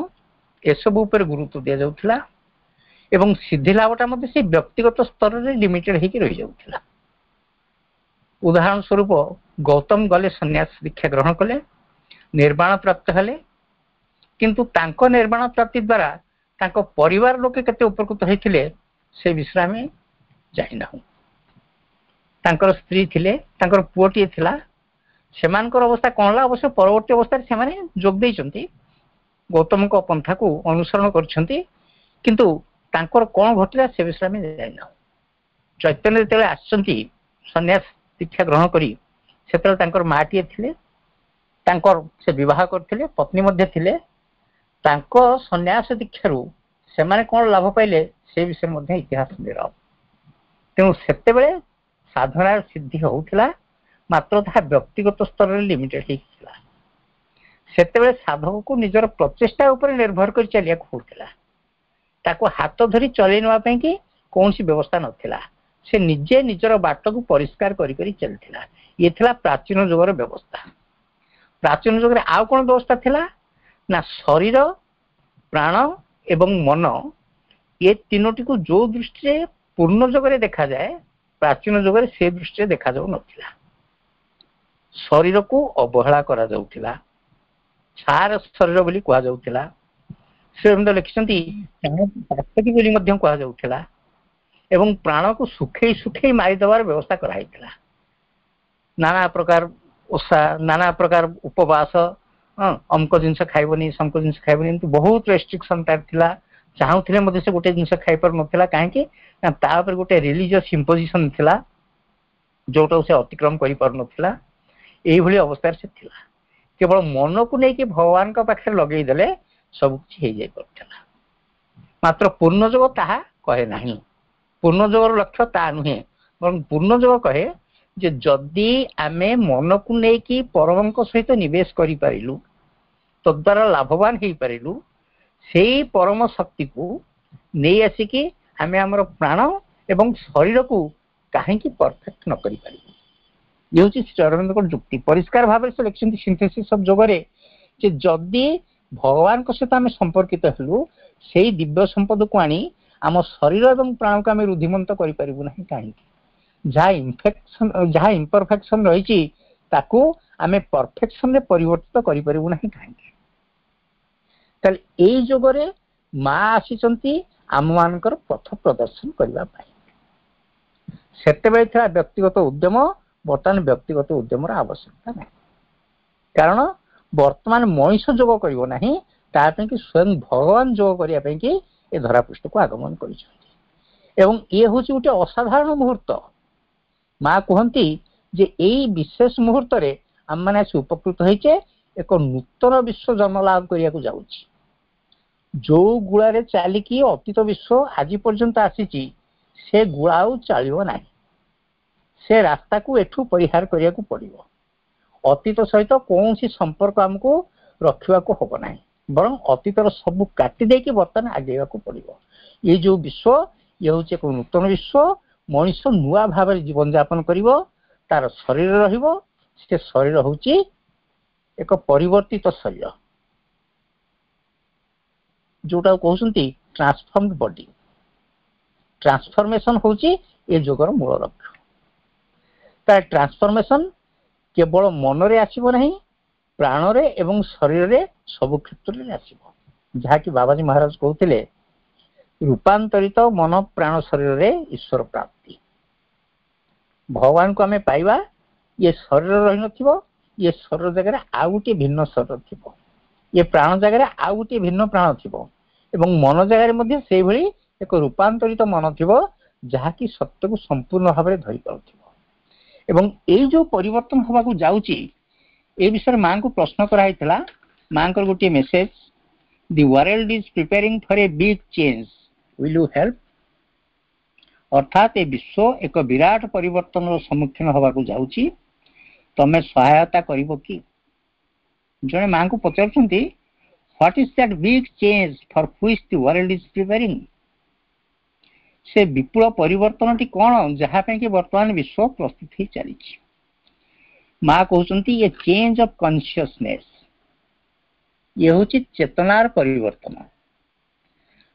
ଏସବୁ ଉପରେ ଗୁରୁତ୍ୱ ଦିଆଯାଉଥିଲା ଏବଂ ସିଦ୍ଧି ଲାଭଟା ମଧ୍ୟ ସେଇ ବ୍ୟକ୍ତିଗତ ସ୍ତରରେ ଲିମିଟେଡ ହେଇକି ରହିଯାଉଥିଲା। ଉଦାହରଣ ସ୍ୱରୂପ, ଗୌତମ ଗଲେ, ସନ୍ନ୍ୟାସ ଦୀକ୍ଷା ଗ୍ରହଣ କଲେ, ନିର୍ବାଣ ପ୍ରାପ୍ତ ହେଲେ, କିନ୍ତୁ ତାଙ୍କ ନିର୍ବାଣ ପ୍ରାପ୍ତି ଦ୍ୱାରା ତାଙ୍କ ପରିବାର ଲୋକେ କେତେ ଉପକୃତ ହେଇଥିଲେ, ସେ ବିଷୟରେ ଆମେ ଜାଣିନାହୁଁ। ତାଙ୍କର ସ୍ତ୍ରୀ ଥିଲେ, ତାଙ୍କର ପୁଅଟିଏ ଥିଲା, ସେମାନଙ୍କର ଅବସ୍ଥା କଣ ହେଲା? ଅବଶ୍ୟ ପରବର୍ତ୍ତୀ ଅବସ୍ଥାରେ ସେମାନେ ଯୋଗ ଦେଇଛନ୍ତି, ଗୌତମଙ୍କ ପନ୍ଥାକୁ ଅନୁସରଣ କରିଛନ୍ତି, କିନ୍ତୁ ତାଙ୍କର କଣ ଘଟିଲା ସେ ବିଷୟରେ ଆମେ ଜାଣିନାହୁଁ। ଚୈତନ୍ୟ ଯେତେବେଳେ ଆସିଛନ୍ତି ସନ୍ନ୍ୟାସ ଦୀକ୍ଷା ଗ୍ରହଣ କରି, ସେତେବେଳେ ତାଙ୍କର ମାଟିଏ ଥିଲେ, ତାଙ୍କର ସେ ବିବାହ କରିଥିଲେ, ପତ୍ନୀ ମଧ୍ୟ ଥିଲେ। ତାଙ୍କ ସନ୍ନ୍ୟାସ ଦୀକ୍ଷାରୁ ସେମାନେ କଣ ଲାଭ ପାଇଲେ, ସେ ବିଷୟରେ ମଧ୍ୟ ଇତିହାସ ନିରବ। ତେଣୁ ସେତେବେଳେ ସାଧନାର ସିଦ୍ଧି ହଉଥିଲା, ମାତ୍ର ତାହା ବ୍ୟକ୍ତିଗତ ସ୍ତରରେ ଲିମିଟେଡ୍ ହେଇକି ଥିଲା। ସେତେବେଳେ ସାଧକକୁ ନିଜର ପ୍ରଚେଷ୍ଟା ଉପରେ ନିର୍ଭର କରି ଚାଲିବାକୁ ହଉଥିଲା। ତାକୁ ହାତ ଧରି ଚଲେଇ ନେବା ପାଇଁ କି କୌଣସି ବ୍ୟବସ୍ଥା ନଥିଲା। ସେ ନିଜେ ନିଜର ବାଟକୁ ପରିଷ୍କାର କରି କରି ଚାଲିଥିଲା। ଇଏ ଥିଲା ପ୍ରାଚୀନ ଯୁଗର ବ୍ୟବସ୍ଥା। ପ୍ରାଚୀନ ଯୁଗରେ ଆଉ କଣ ବ୍ୟବସ୍ଥା ଥିଲା ନା, ଶରୀର, ପ୍ରାଣ ଏବଂ ମନ ଏ ତିନୋଟିକୁ ଯୋଉ ଦୃଷ୍ଟିରେ ପୂର୍ଣ୍ଣ ଯୁଗରେ ଦେଖାଯାଏ, ପ୍ରାଚୀନ ଯୁଗରେ ସେ ଦୃଷ୍ଟିରେ ଦେଖାଯାଉନଥିଲା। ଶରୀରକୁ ଅବହେଳା କରାଯାଉଥିଲା, ଛାର ଶରୀର ବୋଲି କୁହାଯାଉଥିଲା। ଶ୍ରୀଅରବିନ୍ଦ ଲେଖିଛନ୍ତି, ପାତକୀ ବୋଲି ମଧ୍ୟ କୁହାଯାଉଥିଲା ଏବଂ ପ୍ରାଣକୁ ଶୁଖେଇ ଶୁଖେଇ ମାରିଦେବାର ବ୍ୟବସ୍ଥା କରାହେଇଥିଲା। ନାନା ପ୍ରକାର ଓଷା, ନାନା ପ୍ରକାର ଉପବାସ, ଅମକ ଜିନିଷ ଖାଇବନି, ସମକ ଜିନିଷ ଖାଇବନି, ଏମିତି ବହୁତ ରେଷ୍ଟ୍ରିକ୍ସନ ତାର ଥିଲା। ଚାହୁଁଥିଲେ ମଧ୍ୟ ସେ ଗୋଟେ ଜିନିଷ ଖାଇପାରୁନଥିଲା। କାହିଁକି ନା ତା ଉପରେ ଗୋଟେ ରିଲିଜିୟସ ଇମ୍ପୋଜିସନ ଥିଲା, ଯୋଉଟାକୁ ସେ ଅତିକ୍ରମ କରିପାରୁନଥିଲା। ଏଇଭଳି ଅବସ୍ଥାରେ ସେ ଥିଲା। କେବଳ ମନକୁ ନେଇକି ଭଗବାନଙ୍କ ପାଖରେ ଲଗେଇଦେଲେ ସବୁ କିଛି ହେଇଯାଇ ପାରୁଥିଲା। ମାତ୍ର ପୂର୍ଣ୍ଣଯୋଗ ତାହା କହେ ନାହିଁ। ପୂର୍ଣ୍ଣଯୋଗର ଲକ୍ଷ୍ୟ ତା ନୁହେଁ, ବରଂ ପୂର୍ଣ୍ଣଯୋଗ କହେ ଯେ ଯଦି ଆମେ ମନକୁ ନେଇକି ପରମଙ୍କ ସହିତ ନିବେଶ କରିପାରିଲୁ, ତଦ୍ୱାରା ଲାଭବାନ ହେଇପାରିଲୁ, ସେଇ ପରମ ଶକ୍ତିକୁ ନେଇ ଆସିକି ଆମେ ଆମର ପ୍ରାଣ ଏବଂ ଶରୀରକୁ କାହିଁକି ପରଫେକ୍ଟ ନ କରିପାରିବୁ? ଇଏ ହଉଛି ଶ୍ରୀ ଅରବିନ୍ଦଙ୍କର ଯୁକ୍ତି। ପରିଷ୍କାର ଭାବରେ ସେ ଲେଖିଛନ୍ତି ସିନ୍ଥେସିସ୍ ଅଫ ଯୋଗରେ ଯେ ଯଦି ଭଗବାନଙ୍କ ସହିତ ଆମେ ସମ୍ପର୍କିତ ହେଲୁ, ସେଇ ଦିବ୍ୟ ସମ୍ପଦକୁ ଆଣି ଆମ ଶରୀର ଏବଂ ପ୍ରାଣକୁ ଆମେ ରୁଦ୍ଧିମନ୍ତ କରିପାରିବୁ ନାହିଁ କାହିଁକି? ଯାହା ଇନଫେକ୍ସନ, ଯାହା ଇମ୍ପରଫେକ୍ସନ ରହିଛି, ତାକୁ ଆମେ ପରଫେକ୍ସନରେ ପରିବର୍ତ୍ତିତ କରିପାରିବୁ ନାହିଁ କାହିଁକି? ତାହେଲେ ଏଇ ଯୁଗରେ ମା ଆସିଛନ୍ତି ଆମମାନଙ୍କର ପଥ ପ୍ରଦର୍ଶନ କରିବା ପାଇଁ। ସେତେବେଳେ ଥିଲା ବ୍ୟକ୍ତିଗତ ଉଦ୍ୟମ, ବର୍ତ୍ତମାନ ବ୍ୟକ୍ତିଗତ ଉଦ୍ୟମର ଆବଶ୍ୟକତା ନାହିଁ। କାରଣ ବର୍ତ୍ତମାନ ମଣିଷ ଯୋଗ କରିବ ନାହିଁ, ତା ପାଇଁ କି ସ୍ୱୟଂ ଭଗବାନ ଯୋଗ କରିବା ପାଇଁ କି ଏ ଧରାପୃଷ୍ଠକୁ ଆଗମନ କରିଛନ୍ତି। ଏବଂ ଇଏ ହଉଛି ଗୋଟେ ଅସାଧାରଣ ମୁହୂର୍ତ୍ତ। ମା କୁହନ୍ତି ଯେ ଏଇ ବିଶେଷ ମୁହୂର୍ତ୍ତରେ ଆମମାନେ ଆସି ଉପକୃତ ହେଇଛେ। ଏକ ନୂତନ ବିଶ୍ୱ ଜନ୍ମ ଲାଭ କରିବାକୁ ଯାଉଛି। ଯୋଉ ଗୁଳାରେ ଚାଲିକି ଅତୀତ ବିଶ୍ୱ ଆଜି ପର୍ଯ୍ୟନ୍ତ ଆସିଛି, ସେ ଗୁଳା ଆଉ ଚାଲିବ ନାହିଁ। ସେ ରାସ୍ତାକୁ ଏଠୁ ପରିହାର କରିବାକୁ ପଡିବ। ଅତୀତ ସହିତ କୌଣସି ସମ୍ପର୍କ ଆମକୁ ରଖିବାକୁ ହବ ନାହିଁ, ବରଂ ଅତୀତର ସବୁ କାଟି ଦେଇକି ବର୍ତ୍ତମାନ ଆଗେଇବାକୁ ପଡିବ। ଏଇ ଯୋଉ ବିଶ୍ୱ, ଇଏ ହଉଛି ଏକ ନୂତନ ବିଶ୍ୱ। ମଣିଷ ନୂଆ ଭାବରେ ଜୀବନଯାପନ କରିବ। ତାର ଶରୀର ରହିବ, ସେ ଶରୀର ହଉଛି ଏକ ପରିବର୍ତ୍ତିତ ଶରୀର, ଯୋଉଟାକୁ କହୁଛନ୍ତି ଟ୍ରାନ୍ସଫର୍ମଡ ବଡି। ଟ୍ରାନ୍ସଫର୍ମେସନ ହଉଛି ଏ ଯୁଗର ମୂଳ ଲକ୍ଷ୍ୟ। ତା ଟ୍ରାନ୍ସଫର୍ମେସନ କେବଳ ମନରେ ଆସିବ ନାହିଁ, ପ୍ରାଣରେ ଏବଂ ଶରୀରରେ, ସବୁ କ୍ଷେତ୍ରରେ ଆସିବ। ଯାହାକି ବାବାଜୀ ମହାରାଜ କହୁଥିଲେ, ରୂପାନ୍ତରିତ ମନ ପ୍ରାଣ ଶରୀରରେ ଈଶ୍ୱର ପ୍ରାପ୍ତି। ଭଗବାନଙ୍କୁ ଆମେ ପାଇବା, ଇଏ ଶରୀର ରହିନଥିବ, ଇଏ ଶରୀର ଜାଗାରେ ଆଉ ଗୋଟିଏ ଭିନ୍ନ ଶରୀର ଥିବ, ଇଏ ପ୍ରାଣ ଜାଗାରେ ଆଉ ଗୋଟିଏ ଭିନ୍ନ ପ୍ରାଣ ଥିବ ଏବଂ ମନ ଜାଗାରେ ମଧ୍ୟ ସେଇଭଳି ଏକ ରୂପାନ୍ତରିତ ମନ ଥିବ, ଯାହାକି ସତ୍ୟକୁ ସମ୍ପୂର୍ଣ୍ଣ ଭାବରେ ଧରି ପାରୁଥିବ। ଏବଂ ଏଇ ଯୋଉ ପରିବର୍ତ୍ତନ ହବାକୁ ଯାଉଛି, ଏ ବିଷୟରେ ମାଙ୍କୁ ପ୍ରଶ୍ନ କରାହେଇଥିଲା। ମାଙ୍କର ଗୋଟିଏ message, "The world is preparing for a big change, will you help?" ଅର୍ଥାତ୍ ଏ ବିଶ୍ୱ ଏକ ବିରାଟ ପରିବର୍ତ୍ତନର ସମ୍ମୁଖୀନ ହବାକୁ ଯାଉଛି, ତମେ ସହାୟତା କରିବ କି? ଜଣେ ମାଙ୍କୁ ପଚାରୁଛନ୍ତି, "What is that big change for which the world is preparing?" ସେ ବିପୁଳ ପରିବର୍ତ୍ତନଟି କଣ, ଯାହା ପାଇଁ କି ବର୍ତ୍ତମାନ ବିଶ୍ୱ ପ୍ରସ୍ତୁତ ହେଇ ଚାଲିଛି? ମା କହୁଛନ୍ତି, ଏ ଚେଞ୍ଜ ଅଫ କନସିୟସନେସ୍। ଇଏ ହଉଛି ଚେତନାର ପରିବର୍ତ୍ତନ।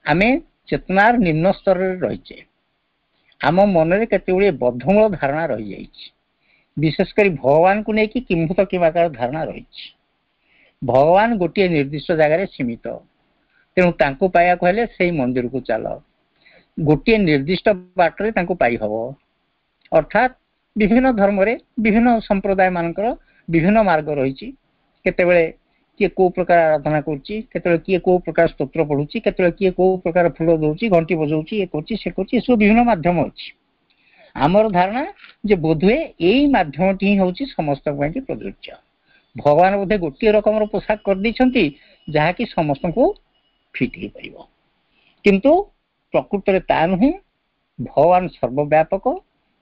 ଆମେ ଚେତନାର ନିମ୍ନ ସ୍ତରରେ ରହିଛେ। ଆମ ମନରେ କେତେ ଗୁଡ଼ିଏ ବଦ୍ଧମୂଳ ଧାରଣା ରହିଯାଇଛି। ବିଶେଷ କରି ଭଗବାନଙ୍କୁ ନେଇକି କିମ୍ଭୂତ କିମାକାର ଧାରଣା ରହିଛି। ଭଗବାନ ଗୋଟିଏ ନିର୍ଦ୍ଦିଷ୍ଟ ଜାଗାରେ ସୀମିତ, ତେଣୁ ତାଙ୍କୁ ପାଇବାକୁ ହେଲେ ସେଇ ମନ୍ଦିରକୁ ଚାଲ, ଗୋଟିଏ ନିର୍ଦ୍ଦିଷ୍ଟ ବାଟରେ ତାଙ୍କୁ ପାଇହବ। ଅର୍ଥାତ୍ ବିଭିନ୍ନ ଧର୍ମରେ ବିଭିନ୍ନ ସମ୍ପ୍ରଦାୟ ମାନଙ୍କର ବିଭିନ୍ନ ମାର୍ଗ ରହିଛି। କେତେବେଳେ କିଏ କୋଉ ପ୍ରକାର ଆରାଧନା କରୁଛି, କେତେବେଳେ କିଏ କୋଉ ପ୍ରକାର ସ୍ତୋତ୍ର ପଢୁଛି, କେତେବେଳେ କିଏ କୋଉ ପ୍ରକାର ଫୁଲ ଦଉଛି, ଘଣ୍ଟି ବଜାଉଛି, ଇଏ କରୁଛି, ସେ କରୁଛି, ଏସବୁ ବିଭିନ୍ନ ମାଧ୍ୟମ ଅଛି। ଆମର ଧାରଣା ଯେ ବୋଧହୁଏ ଏଇ ମାଧ୍ୟମଟି ହିଁ ହଉଛି ସମସ୍ତଙ୍କ ପାଇଁ ପ୍ରଯୁଜ୍ୟ। ଭଗବାନ ବୋଧେ ଗୋଟିଏ ରକମର ପୋଷାକ କରିଦେଇଛନ୍ତି, ଯାହାକି ସମସ୍ତଙ୍କୁ ଫିଟ୍ ହେଇପାରିବ। କିନ୍ତୁ ପ୍ରକୃତରେ ତା ନୁହେଁ। ଭଗବାନ ସର୍ବବ୍ୟାପକ,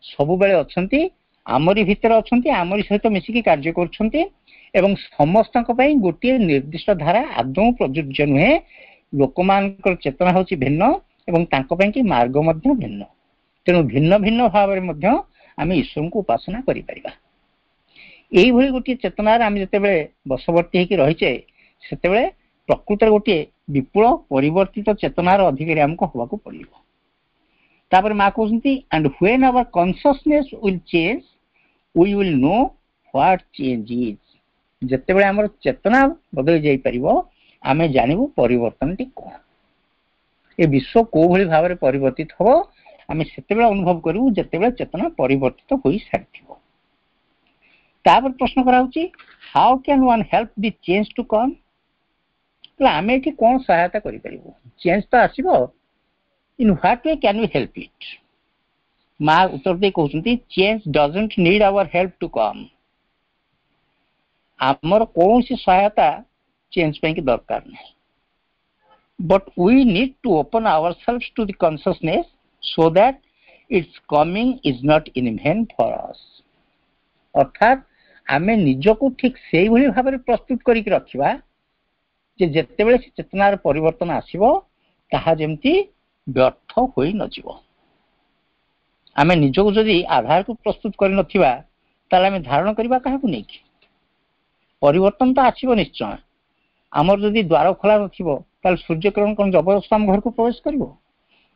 ସବୁବେଳେ ଅଛନ୍ତି। ଆମରି ଭିତରେ ଅଛନ୍ତି, ଆମରି ସହିତ ମିଶିକି କାର୍ଯ୍ୟ କରୁଛନ୍ତି ଏବଂ ସମସ୍ତଙ୍କ ପାଇଁ ଗୋଟିଏ ନିର୍ଦ୍ଦିଷ୍ଟ ଧାରା ଆଦୌ ପ୍ରଯୁଜ୍ୟ ନୁହେଁ। ଲୋକମାନଙ୍କର ଚେତନା ହେଉଛି ଭିନ୍ନ ଏବଂ ତାଙ୍କ ପାଇଁ କି ମାର୍ଗ ମଧ୍ୟ ଭିନ୍ନ। ତେଣୁ ଭିନ୍ନ ଭିନ୍ନ ଭାବରେ ମଧ୍ୟ ଆମେ ଈଶ୍ୱରଙ୍କୁ ଉପାସନା କରିପାରିବା। ଏଇଭଳି ଗୋଟିଏ ଚେତନାରେ ଆମେ ଯେତେବେଳେ ବଶବର୍ତ୍ତୀ ହେଇକି ରହିଛେ, ସେତେବେଳେ ପ୍ରକୃତରେ ଗୋଟିଏ ବିପୁଳ ପରିବର୍ତ୍ତିତ ଚେତନାର ଅଧିକାରୀ ଆମକୁ ହବାକୁ ପଡିବ। ତାପରେ ମା କହୁଛନ୍ତି, "And when our consciousness will change, we will know what change is." ଯେତେବେଳେ ଆମର ଚେତନା ବଦଳି ଯାଇପାରିବ, ଆମେ ଜାଣିବୁ ପରିବର୍ତ୍ତନଟି କଣ। ଏ ବିଶ୍ୱ କୋଉ ଭଳି ଭାବରେ ପରିବର୍ତ୍ତିତ ହବ, ଆମେ ସେତେବେଳେ ଅନୁଭବ କରିବୁ ଯେତେବେଳେ ଚେତନା ପରିବର୍ତ୍ତିତ ହୋଇସାରିଥିବ। ତାପରେ ପ୍ରଶ୍ନ କରାହଉଛି, "How can one help the change to come?" ଆମେ ଏଠି କଣ ସହାୟତା କରିପାରିବୁ? ଚେଞ୍ଜ ତ ଆସିବ, in what way can we help it? ମା ଉତ୍ତର ଦେଇ କହୁଛନ୍ତି, "Change doesn't need our help to come." ଆମର କୌଣସି ସହାୟତା ଚେଞ୍ଜ ପାଇଁ କି ଦରକାର ନାହିଁ। "But we need to open ourselves to the consciousness so that its coming is not in vain for us." ଅର୍ଥାତ୍ ଆମେ ନିଜକୁ ଠିକ ସେଇଭଳି ଭାବରେ ପ୍ରସ୍ତୁତ କରିକି ରଖିବା ଯେ ଯେତେବେଳେ ସେ ଚେତନାର ପରିବର୍ତ୍ତନ ଆସିବ, ତାହା ଯେମିତି ବ୍ୟର୍ଥ ହୋଇ ନଯିବ। ଆମେ ନିଜକୁ ଯଦି ଆଧାରକୁ ପ୍ରସ୍ତୁତ କରିନଥିବା, ତାହେଲେ ଆମେ ଧାରଣ କରିବା କାହାକୁ ନେଇକି? ପରିବର୍ତ୍ତନ ତ ଆସିବ ନିଶ୍ଚୟ। ଆମର ଯଦି ଦ୍ୱାର ଖୋଲା ନଥିବ, ତାହେଲେ ସୂର୍ଯ୍ୟକିରଣ କଣ ଜବରଦସ୍ତ ଆମ ଘରକୁ ପ୍ରବେଶ କରିବ?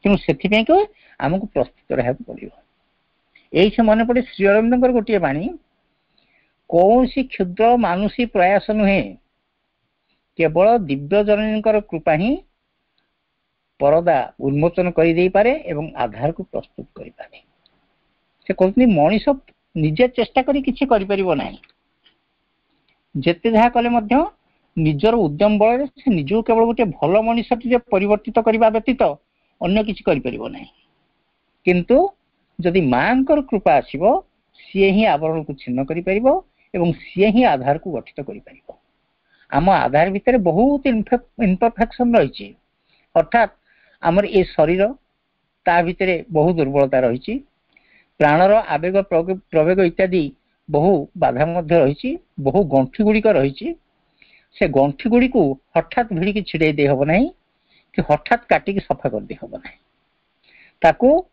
ତେଣୁ ସେଥିପାଇଁ କି ଆମକୁ ପ୍ରସ୍ତୁତ ରହିବାକୁ ପଡିବ। ଏଇଠି ମନେ ପଡେ ଶ୍ରୀ ଅରବିନ୍ଦଙ୍କର ଗୋଟିଏ ବାଣୀ, "କୌଣସି କ୍ଷୁଦ୍ର ମାନୁଷୀ ପ୍ରୟାସ ନୁହେଁ, କେବଳ ଦିବ୍ୟ ଜନନୀଙ୍କର କୃପା ହିଁ ପରଦା ଉନ୍ମୋଚନ କରିଦେଇପାରେ ଏବଂ ଆଧାରକୁ ପ୍ରସ୍ତୁତ କରିପାରେ।" ସେ କହୁଛନ୍ତି, ମଣିଷ ନିଜେ ଚେଷ୍ଟା କରି କିଛି କରିପାରିବ ନାହିଁ। ଯେତେ ଯାହା କଲେ ମଧ୍ୟ ନିଜର ଉଦ୍ୟମ ବଳରେ ସେ ନିଜକୁ କେବଳ ଗୋଟିଏ ଭଲ ମଣିଷଟିରେ ପରିବର୍ତ୍ତିତ କରିବା ବ୍ୟତୀତ ଅନ୍ୟ କିଛି କରିପାରିବ ନାହିଁ। କିନ୍ତୁ ଯଦି ମାଙ୍କର କୃପା ଆସିବ, ସିଏ ହିଁ ଆବରଣକୁ ଛିନ୍ନ କରିପାରିବ ଏବଂ ସିଏ ହିଁ ଆଧାରକୁ ଗଠିତ କରିପାରିବ। ଆମ ଆଧାର ଭିତରେ ବହୁତ ଇମ୍ପରଫେକ୍ସନ ରହିଛି। ଅର୍ଥାତ୍ ଆମର ଏ ଶରୀର, ତା ଭିତରେ ବହୁ ଦୁର୍ବଳତା ରହିଛି। ପ୍ରାଣର ଆବେଗ, ପ୍ରବେଗ ଇତ୍ୟାଦି ବହୁ ବାଧା ମଧ୍ୟ ରହିଛି। ବହୁ ଗଣ୍ଠି ଗୁଡ଼ିକ ରହିଛି। ସେ ଗଣ୍ଠି ଗୁଡ଼ିକୁ ହଠାତ୍ ଭିଡ଼ିକି ଛିଡେଇ ଦେଇ ହବ ନାହିଁ କି ହଠାତ୍ କାଟିକି ସଫା କରିଦେଇ ହବ ନାହିଁ। ତାକୁ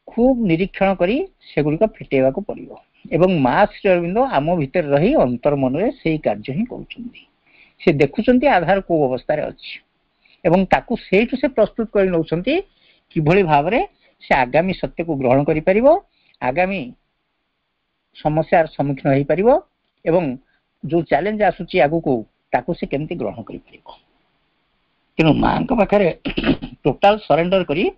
ଖୁବ୍ ନିରୀକ୍ଷଣ କରି ସେଗୁଡ଼ିକ ଫିଟେଇବାକୁ ପଡିବ ଏବଂ ମା ଶ୍ରୀ ଅରବିନ୍ଦ ଆମ ଭିତରେ ରହି ଅନ୍ତର ମନରେ ସେଇ କାର୍ଯ୍ୟ ହିଁ କରୁଛନ୍ତି। ସେ ଦେଖୁଛନ୍ତି ଆଧାର କୋଉ ଅବସ୍ଥାରେ ଅଛି ଏବଂ ତାକୁ ସେଇଠୁ ସେ ପ୍ରସ୍ତୁତ କରି ନେଉଛନ୍ତି କିଭଳି ଭାବରେ ସେ ଆଗାମୀ ସତ୍ୟକୁ ଗ୍ରହଣ କରିପାରିବ, ଆଗାମୀ ସମସ୍ୟାର ସମ୍ମୁଖୀନ ହେଇପାରିବ ଏବଂ ଯୋଉ ଚ୍ୟାଲେଞ୍ଜ ଆସୁଛି ଆଗକୁ, ତାକୁ ସେ କେମିତି ଗ୍ରହଣ କରିପାରିବ। ତେଣୁ ମାଙ୍କ ପାଖରେ ଟୋଟାଲ ସରେଣ୍ଡର କରି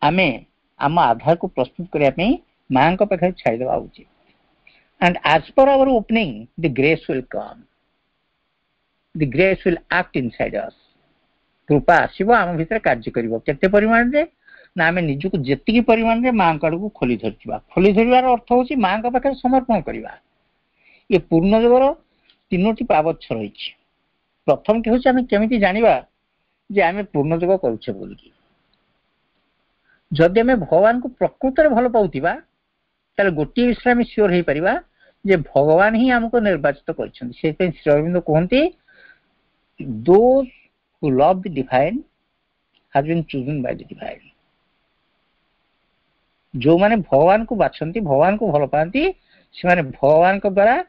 ଆମେ ଆମ ଆଧାରକୁ ପ୍ରସ୍ତୁତ କରିବା ପାଇଁ ମାଙ୍କ ପାଖରେ ଛାଡ଼ିଦେବା ଉଚିତ। "And as per our opening, the grace will come, the grace will act inside us." କୃପା ଆସିବ, ଆମ ଭିତରେ କାର୍ଯ୍ୟ କରିବ। କେତେ ପରିମାଣରେ ନା ଆମେ ନିଜକୁ ଯେତିକି ପରିମାଣରେ ମାଙ୍କ ଆଡକୁ ଖୋଲି ଧରିଥିବା। ଖୋଲି ଧରିବାର ଅର୍ଥ ହଉଛି ମାଙ୍କ ପାଖରେ ସମର୍ପଣ କରିବା। ଏ ପୂର୍ଣ୍ଣ ଯୋଗର ତିନୋଟି ପାବଚ୍ଛ ରହିଛି। ପ୍ରଥମଟି ହଉଛି, ଆମେ କେମିତି ଜାଣିବା ଯେ ଆମେ ପୂର୍ଣ୍ଣ ଯୋଗ କରୁଛେ ବୋଲିକି? ଯଦି ଆମେ ଭଗବାନଙ୍କୁ ପ୍ରକୃତରେ ଭଲ ପାଉଥିବା, ତାହେଲେ ଗୋଟିଏ ବିଷୟରେ ଆମେ ସିଓର ହେଇପାରିବା ଯେ ଭଗବାନ ହିଁ ଆମକୁ ନିର୍ବାଚିତ କରିଛନ୍ତି। ସେଥିପାଇଁ ଶ୍ରୀ ଅରବିନ୍ଦ କୁହନ୍ତି, "Those who love the divine has been chosen by the divine." ଯୋଉମାନେ ଭଗବାନଙ୍କୁ ବାଛନ୍ତି, ଭଗବାନଙ୍କୁ ଭଲ ପାଆନ୍ତି, ସେମାନେ ଭଗବାନଙ୍କ ଦ୍ଵାରା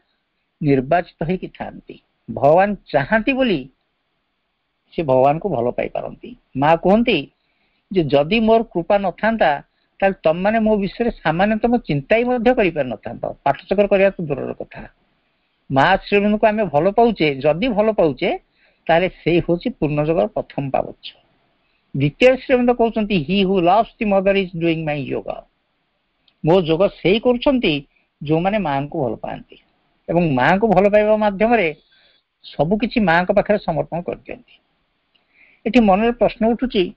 ନିର୍ବାଚିତ ହେଇକି ଥାଆନ୍ତି। ଭଗବାନ ଚାହାନ୍ତି ବୋଲି ସେ ଭଗବାନଙ୍କୁ ଭଲ ପାଇପାରନ୍ତି। ମା କୁହନ୍ତି ଯେ ଯଦି ମୋର କୃପା ନଥାନ୍ତା, ତାହେଲେ ତମମାନେ ମୋ ବିଷୟରେ ସାମାନ୍ୟତମ ଚିନ୍ତା ହିଁ ମଧ୍ୟ କରିପାରିନଥାନ୍ତ, ପାଠଚକ୍ର କରିବା ତ ଦୂରର କଥା। ମା ଶ୍ରୀଅରବିନ୍ଦଙ୍କୁ ଆମେ ଭଲ ପାଉଛେ, ଯଦି ଭଲ ପାଉଛେ, ତାହେଲେ ସେଇ ହଉଛି ପୂର୍ଣ୍ଣ ଯୋଗର ପ୍ରଥମ ପାବଚ୍ଛ। ଦ୍ୱିତୀୟ ଶ୍ରୀଅରବିନ୍ଦ କହୁଛନ୍ତି, "He who loves the Mother is doing my yoga." ମୋ ଯୋଗ ସେଇ କରୁଛନ୍ତି ଯୋଉମାନେ ମାଙ୍କୁ ଭଲ ପାଆନ୍ତି ଏବଂ ମାଙ୍କୁ ଭଲ ପାଇବା ମାଧ୍ୟମରେ ସବୁ କିଛି ମାଙ୍କ ପାଖରେ ସମର୍ପଣ କରିଦିଅନ୍ତି। ଏଠି ମନରେ ପ୍ରଶ୍ନ ଉଠୁଛି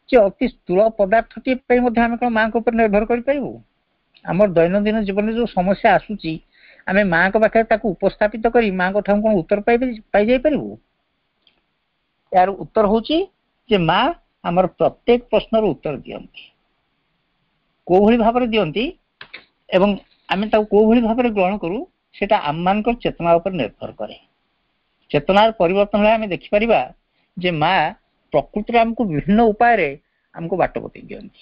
ଯେ ଅତି ସ୍ଥୂଳ ପଦାର୍ଥଟିଏ ପାଇଁ ମଧ୍ୟ ଆମେ କଣ ମାଙ୍କ ଉପରେ ନିର୍ଭର କରିପାରିବୁ? ଆମର ଦୈନନ୍ଦିନ ଜୀବନରେ ଯୋଉ ସମସ୍ୟା ଆସୁଛି, ଆମେ ମାଙ୍କ ପାଖରେ ତାକୁ ଉପସ୍ଥାପିତ କରି ମାଙ୍କ ଠାରୁ କଣ ଉତ୍ତର ପାଇଯାଇପାରିବୁ? ଏହାର ଉତ୍ତର ହଉଛି ଯେ ମା ଆମର ପ୍ରତ୍ୟେକ ପ୍ରଶ୍ନର ଉତ୍ତର ଦିଅନ୍ତି। କୋଉଭଳି ଭାବରେ ଦିଅନ୍ତି? ଏବଂ ଆମେ ତାକୁ କୋଉ ଭଳି ଭାବରେ ଗ୍ରହଣ କରୁ, ସେଟା ଆମମାନଙ୍କର ଚେତନା ଉପରେ ନିର୍ଭର କରେ। ଚେତନାର ପରିବର୍ତ୍ତନ ହେଲେ ଆମେ ଦେଖିପାରିବା ଯେ ମା ପ୍ରକୃତିରେ ଆମକୁ ବିଭିନ୍ନ ଉପାୟରେ ଆମକୁ ବାଟ ବତେଇ ଦିଅନ୍ତି।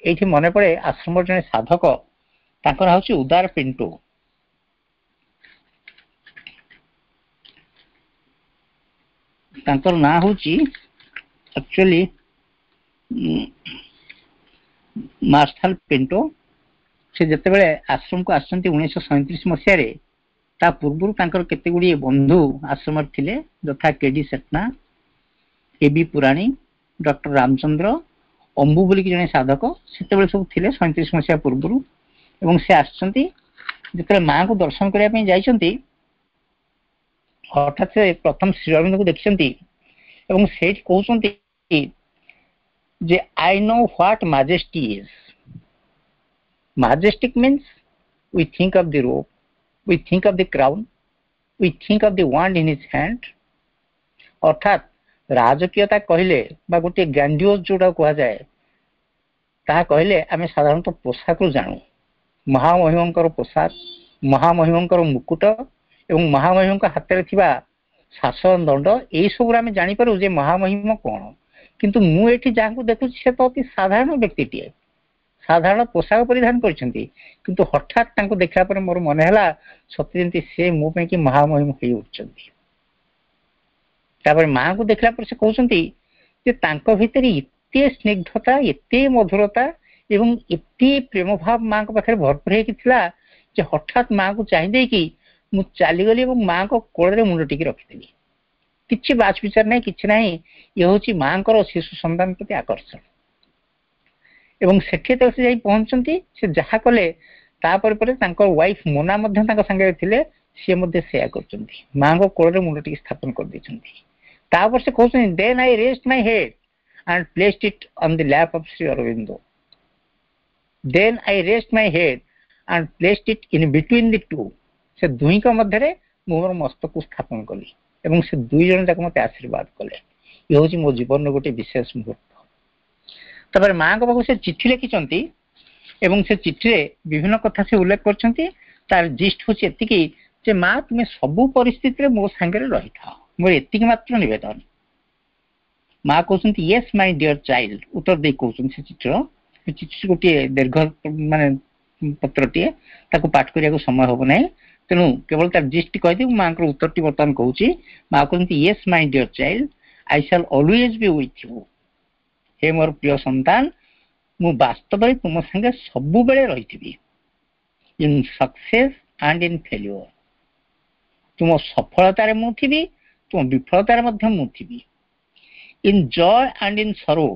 ଏଇଠି ମନେ ପଡେ ଆଶ୍ରମର ଜଣେ ସାଧକ, ତାଙ୍କର ନାଁ ହଉଛି ଉଦାର ପିଣ୍ଟୁ। ତାଙ୍କର ନାଁ ହଉଛି ଆକ୍ଚୁଆଲି ମାର୍ଶାଲ ପିଣ୍ଟୋ। ସେ ଯେତେବେଳେ ଆଶ୍ରମକୁ ଆସିଛନ୍ତି 1937 ମସିହାରେ, ତା ପୂର୍ବରୁ ତାଙ୍କର କେତେ ଗୁଡ଼ିଏ ବନ୍ଧୁ ଆଶ୍ରମରେ ଥିଲେ, ଯଥା କେ ଡି ସେଠନା, କେ ବି ପୁରାଣୀ, ଡକ୍ଟର ରାମଚନ୍ଦ୍ର, ଅମ୍ବୁ ବୋଲିକି ଜଣେ ସାଧକ ସେତେବେଳେ ସବୁ ଥିଲେ 37 ମସିହା ପୂର୍ବରୁ। ଏବଂ ସେ ଆସିଛନ୍ତି, ଯେତେବେଳେ ମାଙ୍କୁ ଦର୍ଶନ କରିବା ପାଇଁ ଯାଇଛନ୍ତି, ହଠାତ୍ ସେ ପ୍ରଥମ ଶ୍ରୀ ଅରବିନ୍ଦଙ୍କୁ ଦେଖିଛନ୍ତି ଏବଂ ସେଇଠି କହୁଛନ୍ତି ଯେ I know what majesty is. Majestic means we think of the robe, we think of the crown, we think of the wand in his hand. ଅର୍ଥାତ୍ ରାଜକୀୟତା କହିଲେ ବା ଗୋଟିଏ ଗ୍ରାଣ୍ଡିଓଜ ଯୋଉଟା କୁହାଯାଏ, ତାହା କହିଲେ ଆମେ ସାଧାରଣତଃ ପୋଷାକରୁ ଜାଣୁ। ମହାମହିମଙ୍କର ପୋଷାକ, ମହାମହିମଙ୍କର ମୁକୁଟ ଏବଂ ମହାମହିମଙ୍କ ହାତରେ ଥିବା ଶାସନ ଦଣ୍ଡ, ଏଇସବୁରେ ଆମେ ଜାଣିପାରୁ ଯେ ମହାମହିମ କଣ। କିନ୍ତୁ ମୁଁ ଏଠି ଯାହାଙ୍କୁ ଦେଖୁଛି ସେ ତ ଅତି ସାଧାରଣ ବ୍ୟକ୍ତିଟିଏ, ସାଧାରଣ ପୋଷାକ ପରିଧାନ କରିଛନ୍ତି, କିନ୍ତୁ ହଠାତ୍ ତାଙ୍କୁ ଦେଖିଲା ପରେ ମୋର ମନେ ହେଲା ସତେ ଯେମିତି ସେ ମୋ ପାଇଁ କି ମହାମହିମ ହେଇ ଉଠୁଛନ୍ତି। ତାପରେ ମାଙ୍କୁ ଦେଖିଲା ପରେ ସେ କହୁଛନ୍ତି ଯେ ତାଙ୍କ ଭିତରେ ଏତେ ସ୍ନିଗ୍ଧତା, ଏତେ ମଧୁରତା ଏବଂ ଏତେ ପ୍ରେମ ଭାବ ମାଙ୍କ ପାଖରେ ଭରପୁର ହେଇକି ଥିଲା ଯେ ହଠାତ୍ ମାଙ୍କୁ ଚାହିଁ ଦେଇକି ମୁଁ ଚାଲିଗଲି ଏବଂ ମାଙ୍କ କୋଳରେ ମୁଣ୍ଡ ଟିକେ ରଖିଦେଲି। କିଛି ବାଛ ବିଚାର ନାହିଁ, କିଛି ନାହିଁ। ଇଏ ହଉଛି ମାଙ୍କର ଶିଶୁ ସନ୍ତାନ ପ୍ରତି ଆକର୍ଷଣ। ଏବଂ ସେଠି ଯେତେବେଳେ ସେ ଯାଇ ପହଞ୍ଚନ୍ତି, ସେ ଯାହା କଲେ, ତାପରେ ପରେ ତାଙ୍କ ୱାଇଫ ମୋନା ମଧ୍ୟ ତାଙ୍କ ସାଙ୍ଗରେ ଥିଲେ, ସିଏ ମଧ୍ୟ ସେୟା କରୁଛନ୍ତି, ମାଙ୍କ କୋଳରେ ମୁଣ୍ଡ ଟିକେ ସ୍ଥାପନ କରିଦେଇଛନ୍ତି। ତାପରେ ସେ କହୁଛନ୍ତି, then I raised my head and placed it on the lap of Sri Aurobindo. Then I raised my head and placed it in between the two. ସେ ଦୁହିଁଙ୍କ ମଧ୍ୟରେ ମୁଁ ମୋର ମସ୍ତକକୁ ସ୍ଥାପନ କଲି ଏବଂ ସେ ଦୁଇ ଜଣ ଯାକ ମତେ ଆଶୀର୍ବାଦ କଲେ। ଇଏ ହଉଛି ମୋ ଜୀବନର ଗୋଟେ ବିଶେଷ ମୁହୂର୍ତ୍ତ। ତାପରେ ମାଙ୍କ ପାଖକୁ ସେ ଚିଠି ଲେଖିଛନ୍ତି ଏବଂ ସେ ଚିଠିରେ ବିଭିନ୍ନ କଥା ସେ ଉଲ୍ଲେଖ କରିଛନ୍ତି। ତାର ଜିଷ୍ଟ ହଉଛି ଏତିକି ଯେ ମା, ତୁମେ ସବୁ ପରିସ୍ଥିତିରେ ମୋ ସାଙ୍ଗରେ ରହିଥାଅ, ମୋର ଏତିକି ମାତ୍ର ନିବେଦନ। ମା କହୁଛନ୍ତି ୟେସ୍ ମାଇ ଡିଅର ଚାଇଲ୍ଡ, ଉତ୍ତର ଦେଇ କହୁଛନ୍ତି ସେ ଚିଠିର। ସେ ଚିଠି ଗୋଟିଏ ଦୀର୍ଘ ମାନେ ପତ୍ରଟିଏ, ତାକୁ ପାଠ କରିବାକୁ ସମୟ ହବ ନାହିଁ, ତେଣୁ କେବଳ ତାର ଜିଷ୍ଟ କହିଦେଇ ମୁଁ ମାଙ୍କର ଉତ୍ତରଟି ବର୍ତ୍ତମାନ କହୁଛି। ମା କହୁଛନ୍ତି yes my dear child, I shall always be with you. ହେ ମୋର ପ୍ରିୟ ସନ୍ତାନ, ମୁଁ ବାସ୍ତବରେ ତୁମ ସାଙ୍ଗେ ସବୁବେଳେ ରହିଥିବି। In success and in failure, ତୁମ ସଫଳତାରେ ମୁଁ ଥିବି, ତୁମ ବିଫଳତାରେ ମଧ୍ୟ ମୁଁ ଥିବି। In joy and in sorrow,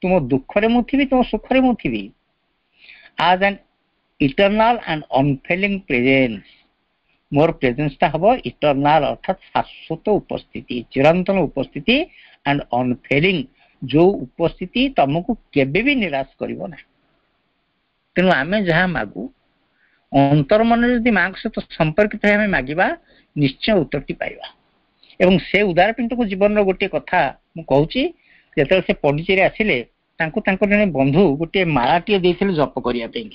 ତୁମ ଦୁଃଖରେ ମୁଁ ଥିବି, ତୁମ ସୁଖରେ ମୁଁ ଥିବି। As an eternal and unfailing presence, ମୋର ପ୍ରେଜେନ୍ସଟା ହବ ଇଟର୍ନାଲ, ଅର୍ଥାତ୍ ଶାଶ୍ୱତ ଉପସ୍ଥିତି, ଚିରନ୍ତନ ଉପସ୍ଥିତି, ଆଣ୍ଡ ଅନଫେଲିଂ, ଯୋଉ ଉପସ୍ଥିତି ତମକୁ କେବେ ବି ନିରାଶ କରିବ ନାହିଁ। ତେଣୁ ଆମେ ଯାହା ମାଗୁ, ଅନ୍ତର ମନରେ ଯଦି ମାଙ୍କ ସହିତ ସମ୍ପର୍କିତ ହେଇ ଆମେ ମାଗିବା, ନିଶ୍ଚୟ ଉତ୍ତରଟି ପାଇବା। ଏବଂ ସେ ଉଦାର ପିଣ୍ଟୁକୁ ଜୀବନର ଗୋଟିଏ କଥା ମୁଁ କହୁଛି, ଯେତେବେଳେ ସେ ପଣ୍ଡିଚେରୀ ଆସିଲେ, ତାଙ୍କୁ ତାଙ୍କର ଜଣେ ବନ୍ଧୁ ଗୋଟିଏ ମାଳାଟିଏ ଦେଇଥିଲେ ଜପ କରିବା ପାଇଁ,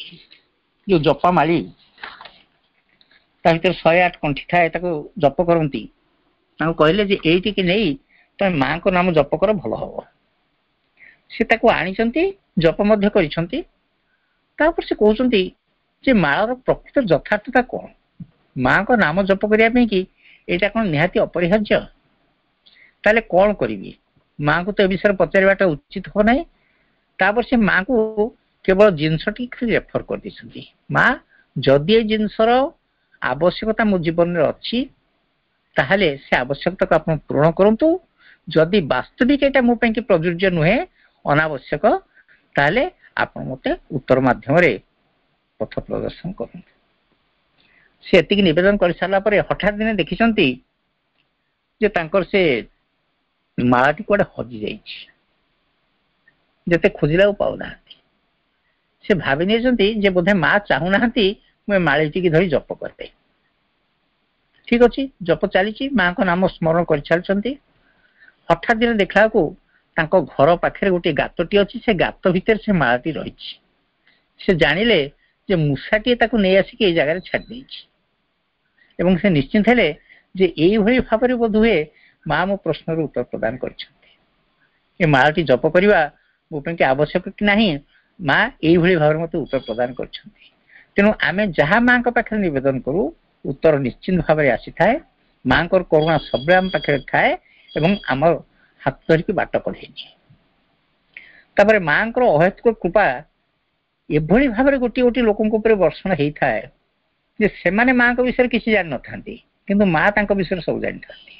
ଯୋଉ ଜପା ମାଳି, ତା ଭିତରେ 108 କଣ୍ଠି ଥାଏ, ତାକୁ ଜପ କରନ୍ତି। ତାଙ୍କୁ କହିଲେ ଯେ ଏଇଟିକି ନେଇ ତମେ ମାଙ୍କ ନାମ ଜପ କର, ଭଲ ହବ। ସେ ତାକୁ ଆଣିଛନ୍ତି, ଜପ ମଧ୍ୟ କରିଛନ୍ତି। ତାପରେ ସେ କହୁଛନ୍ତି ଯେ ମାଳର ପ୍ରକୃତ ଯଥାର୍ଥତା କଣ? ମାଙ୍କ ନାମ ଜପ କରିବା ପାଇଁ କି ଏଇଟା କଣ ନିହାତି ଅପରିହାର୍ଯ୍ୟ? ତାହେଲେ କଣ କରିବି? ମାଙ୍କୁ ତ ଏ ବିଷୟରେ ପଚାରିବାଟା ଉଚିତ ହବ ନାହିଁ। ତାପରେ ସେ ମାଙ୍କୁ କେବଳ ଜିନିଷଟି ଖାଲି ରେଫର କରିଦେଇଛନ୍ତି, ମା ଯଦି ଏ ଜିନିଷର ଆବଶ୍ୟକତା ମୋ ଜୀବନରେ ଅଛି, ତାହେଲେ ସେ ଆବଶ୍ୟକତାକୁ ଆପଣ ପୂରଣ କରନ୍ତୁ। ଯଦି ବାସ୍ତବିକ ଏଇଟା ମୋ ପାଇଁ କି ପ୍ରଯୁଜ୍ୟ ନୁହେଁ, ଅନାବଶ୍ୟକ, ତାହେଲେ ଆପଣ ମତେ ଉତ୍ତର ମାଧ୍ୟମରେ ପଥ ପ୍ରଦର୍ଶନ କରନ୍ତୁ। ସେ ଏତିକି ନିବେଦନ କରିସାରିଲା ପରେ ହଠାତ୍ ଦିନେ ଦେଖିଛନ୍ତି ଯେ ତାଙ୍କର ସେ ମାଳାଟି କୁଆଡେ ହଜି ଯାଇଛି, ଯେତେ ଖୋଜିଲା ଆଉ ପାଉନାହାନ୍ତି। ସେ ଭାବି ନେଇଛନ୍ତି ଯେ ବୋଧେ ମା ଚାହୁଁନାହାନ୍ତି ମୁଁ ଏ ମାଳିଟିକି ଧରି ଜପ କରେ। ଠିକ ଅଛି, ଜପ ଚାଲିଛି, ମାଙ୍କ ନାମ ସ୍ମରଣ କରିଚାଲିଛନ୍ତି। ହଠାତ୍ ଦିନେ ଦେଖିଲା ବେଳକୁ ତାଙ୍କ ଘର ପାଖରେ ଗୋଟିଏ ଗାତଟି ଅଛି, ସେ ଗାତ ଭିତରେ ସେ ମାଳାଟି ରହିଛି। ସେ ଜାଣିଲେ ଯେ ମୂଷାଟିଏ ତାକୁ ନେଇ ଆସିକି ଏଇ ଜାଗାରେ ଛାଡ଼ି ଦେଇଛି। ଏବଂ ସେ ନିଶ୍ଚିନ୍ତ ହେଲେ ଯେ ଏଇଭଳି ଭାବରେ ବୋଧହୁଏ ମା ମୋ ପ୍ରଶ୍ନର ଉତ୍ତର ପ୍ରଦାନ କରିଛନ୍ତି। ଏ ମାଳଟି ଜପ କରିବା ମୋ ପାଇଁ ଆବଶ୍ୟକ କି ନାହିଁ, ମା ଏଇଭଳି ଭାବରେ ମତେ ଉତ୍ତର ପ୍ରଦାନ କରିଛନ୍ତି। ତେଣୁ ଆମେ ଯାହା ମାଙ୍କ ପାଖରେ ନିବେଦନ କରୁ, ଉତ୍ତର ନିଶ୍ଚିନ୍ତ ଭାବରେ ଆସିଥାଏ। ମାଙ୍କର କରୁଣା ସବୁବେଳେ ଆମ ପାଖରେ ଥାଏ ଏବଂ ଆମର ହାତ ଧରିକି ବାଟ କଢ଼େଇ ନିଏ। ତାପରେ ମାଙ୍କର ଅହେତୁକ କୃପା ଏଭଳି ଭାବରେ ଗୋଟିଏ ଗୋଟିଏ ଲୋକଙ୍କ ଉପରେ ବର୍ଷଣ ହେଇଥାଏ ଯେ ସେମାନେ ମାଙ୍କ ବିଷୟରେ କିଛି ଜାଣିନଥାନ୍ତି, କିନ୍ତୁ ମା ତାଙ୍କ ବିଷୟରେ ସବୁ ଜାଣିଥାନ୍ତି।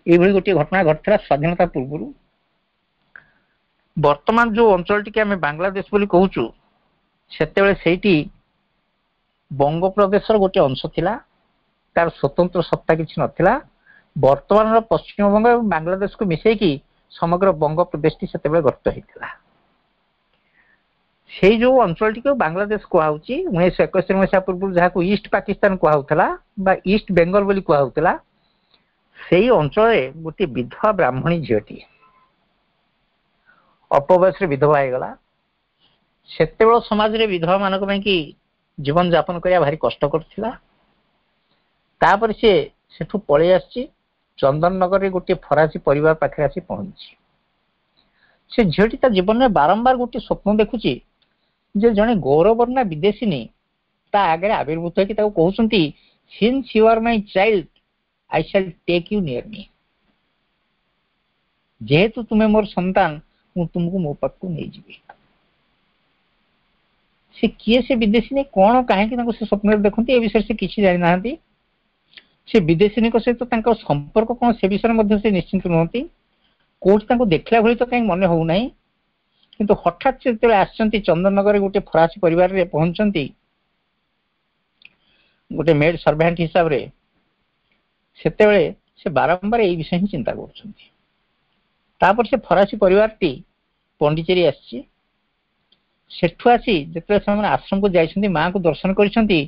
ଏଇଭଳି ଗୋଟିଏ ଘଟଣା ଘଟିଥିଲା ସ୍ୱାଧୀନତା ପୂର୍ବରୁ। ବର୍ତ୍ତମାନ ଯୋଉ ଅଞ୍ଚଳଟିକି ଆମେ ବାଂଲାଦେଶ ବୋଲି କହୁଛୁ, ସେତେବେଳେ ସେଇଠି ବଙ୍ଗପ୍ରଦେଶର ଗୋଟିଏ ଅଂଶ ଥିଲା, ତାର ସ୍ୱତନ୍ତ୍ର ସତ୍ତା କିଛି ନଥିଲା। ବର୍ତ୍ତମାନର ପଶ୍ଚିମବଙ୍ଗ ଏବଂ ବାଂଲାଦେଶକୁ ମିଶେଇକି ସମଗ୍ର ବଙ୍ଗ ପ୍ରଦେଶଟି ସେତେବେଳେ ଗଠିତ ହେଇଥିଲା। ସେଇ ଯୋଉ ଅଞ୍ଚଳଟିକୁ ବାଂଲାଦେଶ କୁହାହଉଛି, 1971 ମସିହା ପୂର୍ବରୁ ଯାହାକୁ ଇଷ୍ଟ ପାକିସ୍ତାନ କୁହାହଉଥିଲା ବା ଇଷ୍ଟ ବେଙ୍ଗଲ ବୋଲି କୁହାହଉଥିଲା, ସେଇ ଅଞ୍ଚଳରେ ଗୋଟିଏ ବିଧବା ବ୍ରାହ୍ମଣୀ ଝିଅଟିଏ ଅଳ୍ପ ବୟସରେ ବିଧବା ହେଇଗଲା। ସେତେବେଳେ ସମାଜରେ ବିଧବା ମାନଙ୍କ ପାଇଁ କି ଜୀବନ ଯାପନ କରିବା ଭାରି କଷ୍ଟକର ଥିଲା। ତାପରେ ସିଏ ସେଠୁ ପଳେଇ ଆସିଛି, ଚନ୍ଦନନଗରରେ ଗୋଟିଏ ଫରାସୀ ପରିବାର ପାଖରେ ଆସି ପହଞ୍ଚିଛି। ସେ ଝିଅଟି ତା ଜୀବନରେ ବାରମ୍ବାର ଗୋଟିଏ ସ୍ୱପ୍ନ ଦେଖୁଛି ଯେ ଜଣେ ଗୌରବର୍ଣ୍ଣା ବିଦେଶିନୀ ତା ଆଗରେ ଆବିର୍ଭୂତ ହେଇକି ତାକୁ କହୁଛନ୍ତି, "Since you are my child, I shall take you near me." ଯେହେତୁ ତୁମେ ମୋର ସନ୍ତାନ, ମୁଁ ତୁମକୁ ମୋ ପାଖକୁ ନେଇଯିବି। ସେ କିଏ ସେ ବିଦେଶିନୀ, କଣ କାହିଁକି ତାଙ୍କୁ ସେ ସ୍ୱପ୍ନରେ ଦେଖନ୍ତି, ଏ ବିଷୟରେ ସେ କିଛି ଜାଣିନାହାନ୍ତି। ସେ ବିଦେଶିନୀଙ୍କ ସହିତ ତାଙ୍କ ସମ୍ପର୍କ କଣ, ସେ ବିଷୟରେ ମଧ୍ୟ ସେ ନିଶ୍ଚିନ୍ତ ନୁହନ୍ତି। କୋଉଠି ତାଙ୍କୁ ଦେଖିଲା ଭଳି ତ କାହିଁ ମନେ ହଉନାହିଁ। କିନ୍ତୁ ହଠାତ୍ ସେ ଯେତେବେଳେ ଆସିଛନ୍ତି, ଚନ୍ଦନନଗରରେ ଗୋଟେ ଫରାସୀ ପରିବାରରେ ପହଞ୍ଚନ୍ତି ଗୋଟେ ମେଡ୍ ସର୍ଭାଣ୍ଟ ହିସାବରେ, ସେତେବେଳେ ସେ ବାରମ୍ବାର ଏଇ ବିଷୟ ହିଁ ଚିନ୍ତା କରୁଛନ୍ତି। ତାପରେ ସେ ଫରାସୀ ପରିବାରଟି ପଣ୍ଡିଚେରୀ ଆସିଛି। ସେଠୁ ଆସି ଯେତେବେଳେ ସେମାନେ ଆଶ୍ରମକୁ ଯାଇଛନ୍ତି, ମାଙ୍କୁ ଦର୍ଶନ କରିଛନ୍ତି,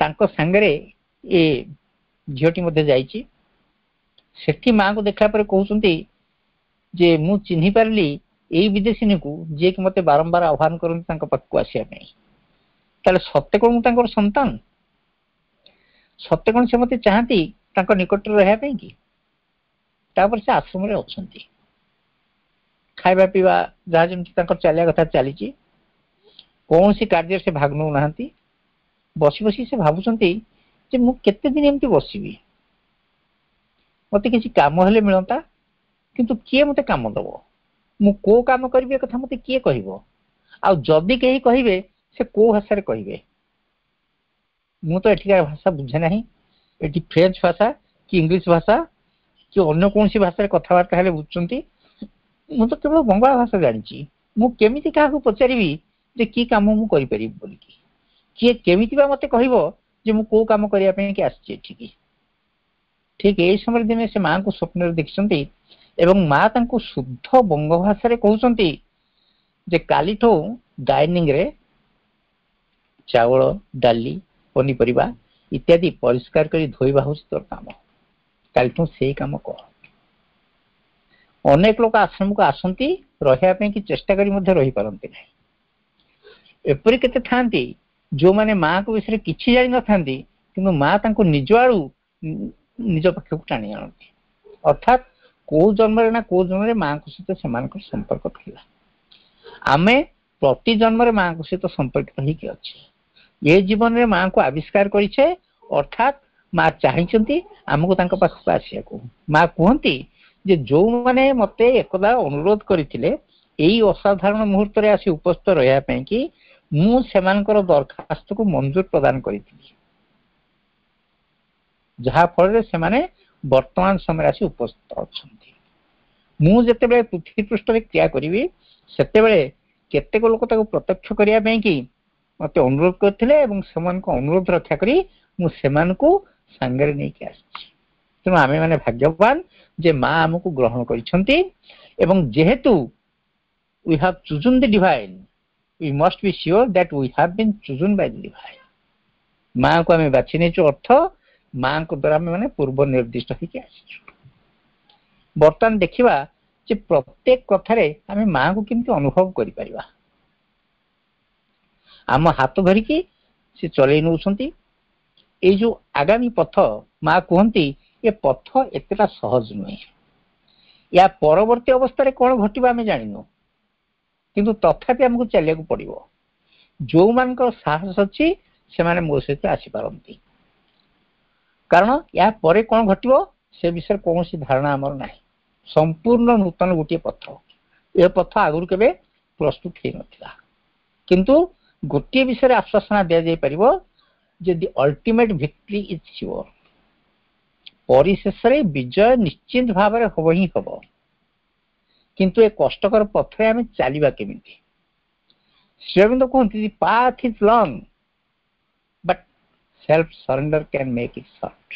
ତାଙ୍କ ସାଙ୍ଗରେ ଏ ଝିଅଟି ମଧ୍ୟ ଯାଇଛି। ସେଠି ମାଙ୍କୁ ଦେଖିଲା ପରେ କହୁଛନ୍ତି ଯେ ମୁଁ ଚିହ୍ନି ପାରିଲି ଏଇ ବିଦେଶିନୀକୁ, ଯିଏକି ମତେ ବାରମ୍ବାର ଆହ୍ୱାନ କରନ୍ତି ତାଙ୍କ ପାଖକୁ ଆସିବା ପାଇଁ। ତାହେଲେ ସତେ କଣ ମୁଁ ତାଙ୍କର ସନ୍ତାନ? ସତେ କଣ ସେ ମତେ ଚାହାନ୍ତି ତାଙ୍କ ନିକଟରେ ରହିବା ପାଇଁ କି? ତାପରେ ସେ ଆଶ୍ରମରେ ଅଛନ୍ତି, ଖାଇବା ପିଇବା ଯାହା ଯେମିତି ତାଙ୍କର ଚାଲିବା କଥା ଚାଲିଛି, କୌଣସି କାର୍ଯ୍ୟରେ ସେ ଭାଗ ନେଉନାହାନ୍ତି। ବସି ବସି ସେ ଭାବୁଛନ୍ତି ଯେ ମୁଁ କେତେ ଦିନ ଏମିତି ବସିବି? ମତେ କିଛି କାମ ହେଲେ ମିଳନ୍ତା, କିନ୍ତୁ କିଏ ମତେ କାମ ଦବ? ମୁଁ କୋଉ କାମ କରିବି, ଏ କଥା ମତେ କିଏ କହିବ? ଆଉ ଯଦି କେହି କହିବେ, ସେ କୋଉ ଭାଷାରେ କହିବେ? ମୁଁ ତ ଏଠିକାର ଭାଷା ବୁଝେ ନାହିଁ। ଏଠି ଫ୍ରେଞ୍ଚ ଭାଷା କି ଇଂଲିଶ ଭାଷା କି ଅନ୍ୟ କୌଣସି ଭାଷାରେ କଥାବାର୍ତ୍ତା ହେଲେ ବୁଝୁଛନ୍ତି। ମୁଁ ତ କେବଳ ବଙ୍ଗଳା ଭାଷା ଜାଣିଛି। ମୁଁ କେମିତି କାହାକୁ ପଚାରିବି ଯେ କି କାମ ମୁଁ କରିପାରିବି ବୋଲିକି? କିଏ କେମିତି ବା ମତେ କହିବ ଯେ ମୁଁ କୋଉ କାମ କରିବା ପାଇଁ କି ଆସିଛି ଏଠିକି? ଠିକ ଏଇ ସମୟରେ ଦିନେ ସେ ମାଙ୍କୁ ସ୍ୱପ୍ନରେ ଦେଖିଛନ୍ତି ଏବଂ ମା ତାଙ୍କୁ ଶୁଦ୍ଧ ବଙ୍ଗ ଭାଷାରେ କହୁଛନ୍ତି ଯେ କାଲିଠୁ ଡାଇନିଂରେ ଚାଉଳ, ଡାଲି, ପନିପରିବା ଇତ୍ୟାଦି ପରିଷ୍କାର କରି ଧୋଇବା ହଉଛି ତୋର କାମ। କାଲିଠୁ ସେଇ କାମ କର। ଅନେକ ଲୋକ ଆଶ୍ରମକୁ ଆସନ୍ତି ରହିବା ପାଇଁ କି ଚେଷ୍ଟା କରି ମଧ୍ୟ ରହିପାରନ୍ତି ନାହିଁ। ଏପରି କେତେ ଥାଆନ୍ତି ଯୋଉମାନେ ମାଙ୍କ ବିଷୟରେ କିଛି ଜାଣିନଥାନ୍ତି, କିନ୍ତୁ ମା ତାଙ୍କୁ ନିଜ ଆଡୁ ନିଜ ପାଖକୁ ଟାଣି ଆଣନ୍ତି। ଅର୍ଥାତ୍ କୋଉ ଜନ୍ମରେ ନା କୋଉ ଜନ୍ମରେ ମାଙ୍କ ସହିତ ସେମାନଙ୍କର ସମ୍ପର୍କ ଥିଲା। ଆମେ ପ୍ରତି ଜନ୍ମରେ ମାଙ୍କ ସହିତ ସମ୍ପର୍କିତ ହେଇକି ଅଛେ। ଏ ଜୀବନରେ ମାଙ୍କୁ ଆବିଷ୍କାର କରିଛେ, ଅର୍ଥାତ୍ ମା ଚାହିଁଛନ୍ତି ଆମକୁ ତାଙ୍କ ପାଖକୁ ଆସିବାକୁ। ମା କୁହନ୍ତି ଯେ ଯୋଉମାନେ ମତେ ଏକଦା ଅନୁରୋଧ କରିଥିଲେ ଏଇ ଅସାଧାରଣ ମୁହୂର୍ତ୍ତରେ ଆସି ଉପସ୍ଥିତ ରହିବା ପାଇଁ କି, ମୁଁ ସେମାନଙ୍କର ଦରଖାସ୍ତକୁ ମଞ୍ଜୁର ପ୍ରଦାନ କରିଥିଲି, ଯାହା ଫଳରେ ସେମାନେ ବର୍ତ୍ତମାନ ସମୟରେ ଆସି ଉପସ୍ଥିତ ଅଛନ୍ତି। ମୁଁ ଯେତେବେଳେ ପୃଥିବୀ ପୃଷ୍ଠରେ କ୍ରିୟା କରିବି, ସେତେବେଳେ କେତେକ ଲୋକ ତାକୁ ପ୍ରତ୍ୟକ୍ଷ କରିବା ପାଇଁ କି ମତେ ଅନୁରୋଧ କରିଥିଲେ ଏବଂ ସେମାନଙ୍କ ଅନୁରୋଧ ରକ୍ଷା କରି ମୁଁ ସେମାନଙ୍କୁ ସାଙ୍ଗରେ ନେଇକି ଆସିଛି। ତେଣୁ ଆମେ ମାନେ ଭାଗ୍ୟବାନ ଯେ ମା ଆମକୁ ଗ୍ରହଣ କରିଛନ୍ତି। ଏବଂ ଯେହେତୁ we have chosen the divine, we must be sure that we have been chosen by the divine. ମାଙ୍କୁ ଆମେ ବାଛି ନେଇଛୁ, ଅର୍ଥ ମାଙ୍କ ଦ୍ୱାରା ଆମେ ମାନେ ପୂର୍ବ ନିର୍ଦ୍ଦିଷ୍ଟ ହେଇକି ଆସିଛୁ। ବର୍ତ୍ତମାନ ଦେଖିବା ଯେ ପ୍ରତ୍ୟେକ କଥାରେ ଆମେ ମାଙ୍କୁ କେମିତି ଅନୁଭବ କରିପାରିବା। ଆମ ହାତ ଧରିକି ସେ ଚଲେଇ ନେଉଛନ୍ତି। ଏଇ ଯୋଉ ଆଗାମୀ ପଥ, ମା କୁହନ୍ତି ଏ ପଥ ଏତେଟା ସହଜ ନୁହେଁ। ୟା ପରବର୍ତ୍ତୀ ଅବସ୍ଥାରେ କଣ ଘଟିବ ଆମେ ଜାଣିନୁ, କିନ୍ତୁ ତଥାପି ଆମକୁ ଚାଲିବାକୁ ପଡିବ। ଯୋଉମାନଙ୍କର ସାହସ ଅଛି ସେମାନେ ମୋ ସହିତ ଆସିପାରନ୍ତି, କାରଣ ୟା ପରେ କଣ ଘଟିବ ସେ ବିଷୟରେ କୌଣସି ଧାରଣା ଆମର ନାହିଁ। ସମ୍ପୂର୍ଣ୍ଣ ନୂତନ ଗୋଟିଏ ପଥ, ଏ ପଥ ଆଗରୁ କେବେ ପ୍ରସ୍ତୁତ ହେଇନଥିଲା। କିନ୍ତୁ ଗୋଟିଏ ବିଷୟରେ ଆଶ୍ୱାସନା ଦିଆଯାଇପାରିବ ଯେ the ultimate victory is sure। ପରିଶେଷରେ ବିଜୟ ନିଶ୍ଚିତ ଭାବରେ ହବ ହିଁ ହବ। କିନ୍ତୁ ଏ କଷ୍ଟକର ପଥରେ ଆମେ ଚାଲିବା କେମିତି? ଶ୍ରୀଅରବିନ୍ଦ କୁହନ୍ତି, the path is long but self surrender can make it short।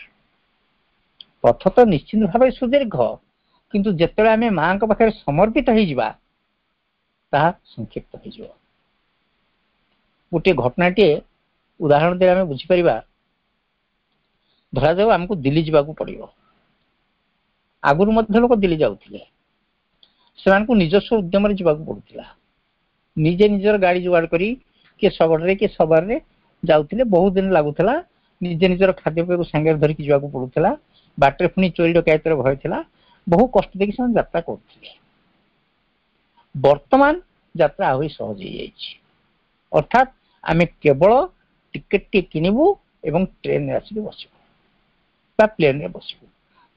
ପଥ ତ ନିଶ୍ଚିତ ଭାବରେ ସୁଦୀର୍ଘ, କିନ୍ତୁ ଯେତେବେଳେ ଆମେ ମାଙ୍କ ପାଖରେ ସମର୍ପିତ ହେଇଯିବା, ତାହା ସଂକ୍ଷିପ୍ତ ହେଇଯିବ। ଗୋଟିଏ ଘଟଣାଟିଏ ଉଦାହରଣ ଦେଲେ ଆମେ ବୁଝିପାରିବା। ଧରାଯାଉ ଆମକୁ ଦିଲ୍ଲୀ ଯିବାକୁ ପଡିବ। ଆଗରୁ ମଧ୍ୟ ଲୋକ ଦିଲ୍ଲୀ ଯାଉଥିଲେ, ସେମାନଙ୍କୁ ନିଜସ୍ୱ ଉଦ୍ୟମରେ ଯିବାକୁ ପଡୁଥିଲା। ନିଜେ ନିଜର ଗାଡି ଯୋଗାଡ଼ କରି କିଏ ଶଗଡ଼ରେ, କିଏ ସବାରରେ ଯାଉଥିଲେ। ବହୁତ ଦିନ ଲାଗୁଥିଲା। ନିଜେ ନିଜର ଖାଦ୍ୟପେୟକୁ ସାଙ୍ଗରେ ଧରିକି ଯିବାକୁ ପଡୁଥିଲା। ବାଟରେ ପୁଣି ଚୋରି ଡକାୟତର ଭୟ ଥିଲା। ବହୁ କଷ୍ଟ ଦେଇକି ସେମାନେ ଯାତ୍ରା କରୁଥିଲେ। ବର୍ତ୍ତମାନ ଯାତ୍ରା ଆହୁରି ସହଜ ହେଇଯାଇଛି। ଅର୍ଥାତ୍ ଆମେ କେବଳ ଟିକେଟଟି କିଣିବୁ ଏବଂ ଟ୍ରେନରେ ଆସିକି ବସିବୁ ବା ପ୍ଲେନରେ ବସିବୁ,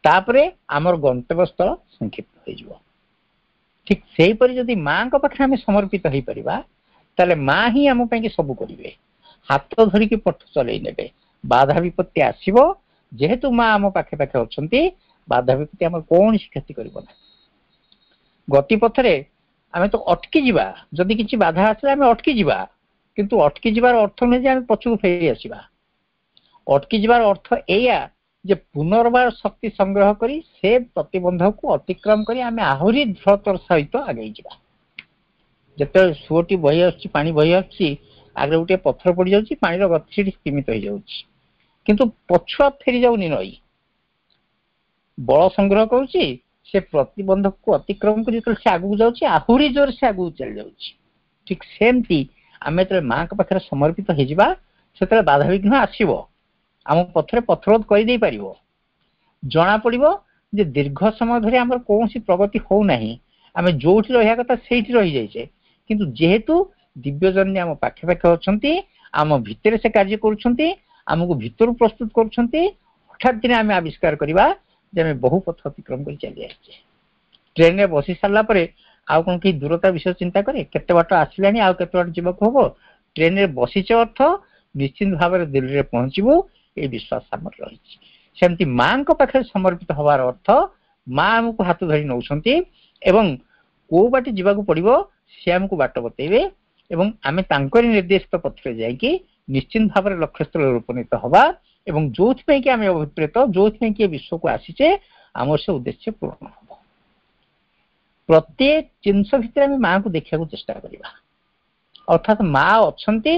ତାପରେ ଆମର ଗନ୍ତବ୍ୟସ୍ଥଳ ସଂକ୍ଷିପ୍ତ ହେଇଯିବ। ଠିକ ସେହିପରି ଯଦି ମାଙ୍କ ପାଖରେ ଆମେ ସମର୍ପିତ ହେଇପାରିବା, ତାହେଲେ ମା ହିଁ ଆମ ପାଇଁ ସବୁ କରିବେ, ହାତ ଧରିକି ପଥ ଚଲେଇ ନେବେ। ବାଧା ବିପତ୍ତି ଆସିବ, ଯେହେତୁ ମା ଆମ ପାଖେ ପାଖେ ଅଛନ୍ତି, ବାଧା ବିପତ୍ତି ଆମର କୌଣସି କ୍ଷତି କରିବ ନାହିଁ। ଗତିପଥରେ ଆମେ ତ ଅଟକି ଯିବା, ଯଦି କିଛି ବାଧା ଆସିଲେ ଆମେ ଅଟକି ଯିବା, କିନ୍ତୁ ଅଟକି ଯିବାର ଅର୍ଥ ନୁହେଁ ଯେ ଆମେ ପଛକୁ ଫେରି ଆସିବା। ଅଟକି ଯିବାର ଅର୍ଥ ଏଇଆ ଯେ ପୁନର୍ବାର ଶକ୍ତି ସଂଗ୍ରହ କରି ସେ ପ୍ରତିବନ୍ଧକୁ ଅତିକ୍ରମ କରି ଆମେ ଆହୁରି ଦୃଢ଼ତର ସହିତ ଆଗେଇ ଯିବା। ଯେତେବେଳେ ସୁଅଟି ବହି ଆସୁଛି, ପାଣି ବହି ଆସୁଛି, ଆଗରେ ଗୋଟିଏ ପଥର ପଡିଯାଉଛି, ପାଣିର ଗତି ସେଠି ସୀମିତ ହେଇଯାଉଛି, କିନ୍ତୁ ପଛୁଆ ଫେରି ଯାଉନି। ନଈ ବଳ ସଂଗ୍ରହ କରୁଛି, ସେ ପ୍ରତିବନ୍ଧକକୁ ଅତିକ୍ରମ କରି ଯେତେବେଳେ ସେ ଆଗକୁ ଯାଉଛି, ଆହୁରି ଜୋରେ ସେ ଆଗକୁ ଚାଲି ଯାଉଛି। ଠିକ ସେମିତି ଆମେ ଯେତେବେଳେ ମାଙ୍କ ପାଖରେ ସମର୍ପିତ ହେଇଯିବା, ସେତେବେଳେ ବାଧାବିଘ୍ନ ଆସିବ, ଆମ ପଥରେ ପଥରୋଧ କରିଦେଇ ପାରିବ। ଜଣା ପଡିବ ଯେ ଦୀର୍ଘ ସମୟ ଧରି ଆମର କୌଣସି ପ୍ରଗତି ହଉନାହିଁ, ଆମେ ଯୋଉଠି ରହିବା କଥା ସେଇଠି ରହିଯାଇଛେ। କିନ୍ତୁ ଯେହେତୁ ଦିବ୍ୟଜନନୀ ଆମ ପାଖେ ପାଖେ ଅଛନ୍ତି, ଆମ ଭିତରେ ସେ କାର୍ଯ୍ୟ କରୁଛନ୍ତି, ଆମକୁ ଭିତରୁ ପ୍ରସ୍ତୁତ କରୁଛନ୍ତି, ହଠାତ୍ ଦିନେ ଆମେ ଆବିଷ୍କାର କରିବା ଯେ ଆମେ ବହୁ ପଥ ଅତିକ୍ରମ କରି ଚାଲି ଆସିଛେ। ଟ୍ରେନରେ ବସି ସାରିଲା ପରେ ଆଉ କଣ କେହି ଦୂରତା ବିଷୟ ଚିନ୍ତା କରେ? କେତେ ବାଟ ଆସିଲାଣି, ଆଉ କେତେ ବାଟ ଯିବାକୁ ହବ? ଟ୍ରେନରେ ବସିଛେ ଅର୍ଥ ନିଶ୍ଚିତ ଭାବରେ ଦିଲ୍ଲୀରେ ପହଞ୍ଚିବୁ, ଏଇ ବିଶ୍ୱାସ ଆମର ରହିଛି। ସେମିତି ମାଙ୍କ ପାଖରେ ସମର୍ପିତ ହବାର ଅର୍ଥ ମା ଆମକୁ ହାତ ଧରି ନଉଛନ୍ତି ଏବଂ କୋଉ ବାଟେ ଯିବାକୁ ପଡିବ ସେ ଆମକୁ ବାଟ ବତେଇବେ ଏବଂ ଆମେ ତାଙ୍କରି ନିର୍ଦ୍ଦେଶିତ ପଥରେ ଯାଇକି ନିଶ୍ଚିତ ଭାବରେ ଲକ୍ଷ୍ୟସ୍ଥଳରେ ଉପନୀତ ହବା ଏବଂ ଯୋଉଥିପାଇଁ କି ଆମେ ଅଭିପ୍ରେତ, ଯୋଉଥିପାଇଁ କି ବିଶ୍ୱକୁ ଆସିଛେ, ଆମର ସେ ଉଦ୍ଦେଶ୍ୟ ପୂରଣ ହବ। ପ୍ରତ୍ୟେକ ଜିନିଷ ଭିତରେ ଆମେ ମାଙ୍କୁ ଦେଖିବାକୁ ଚେଷ୍ଟା କରିବା, ଅର୍ଥାତ୍ ମା ଅଛନ୍ତି,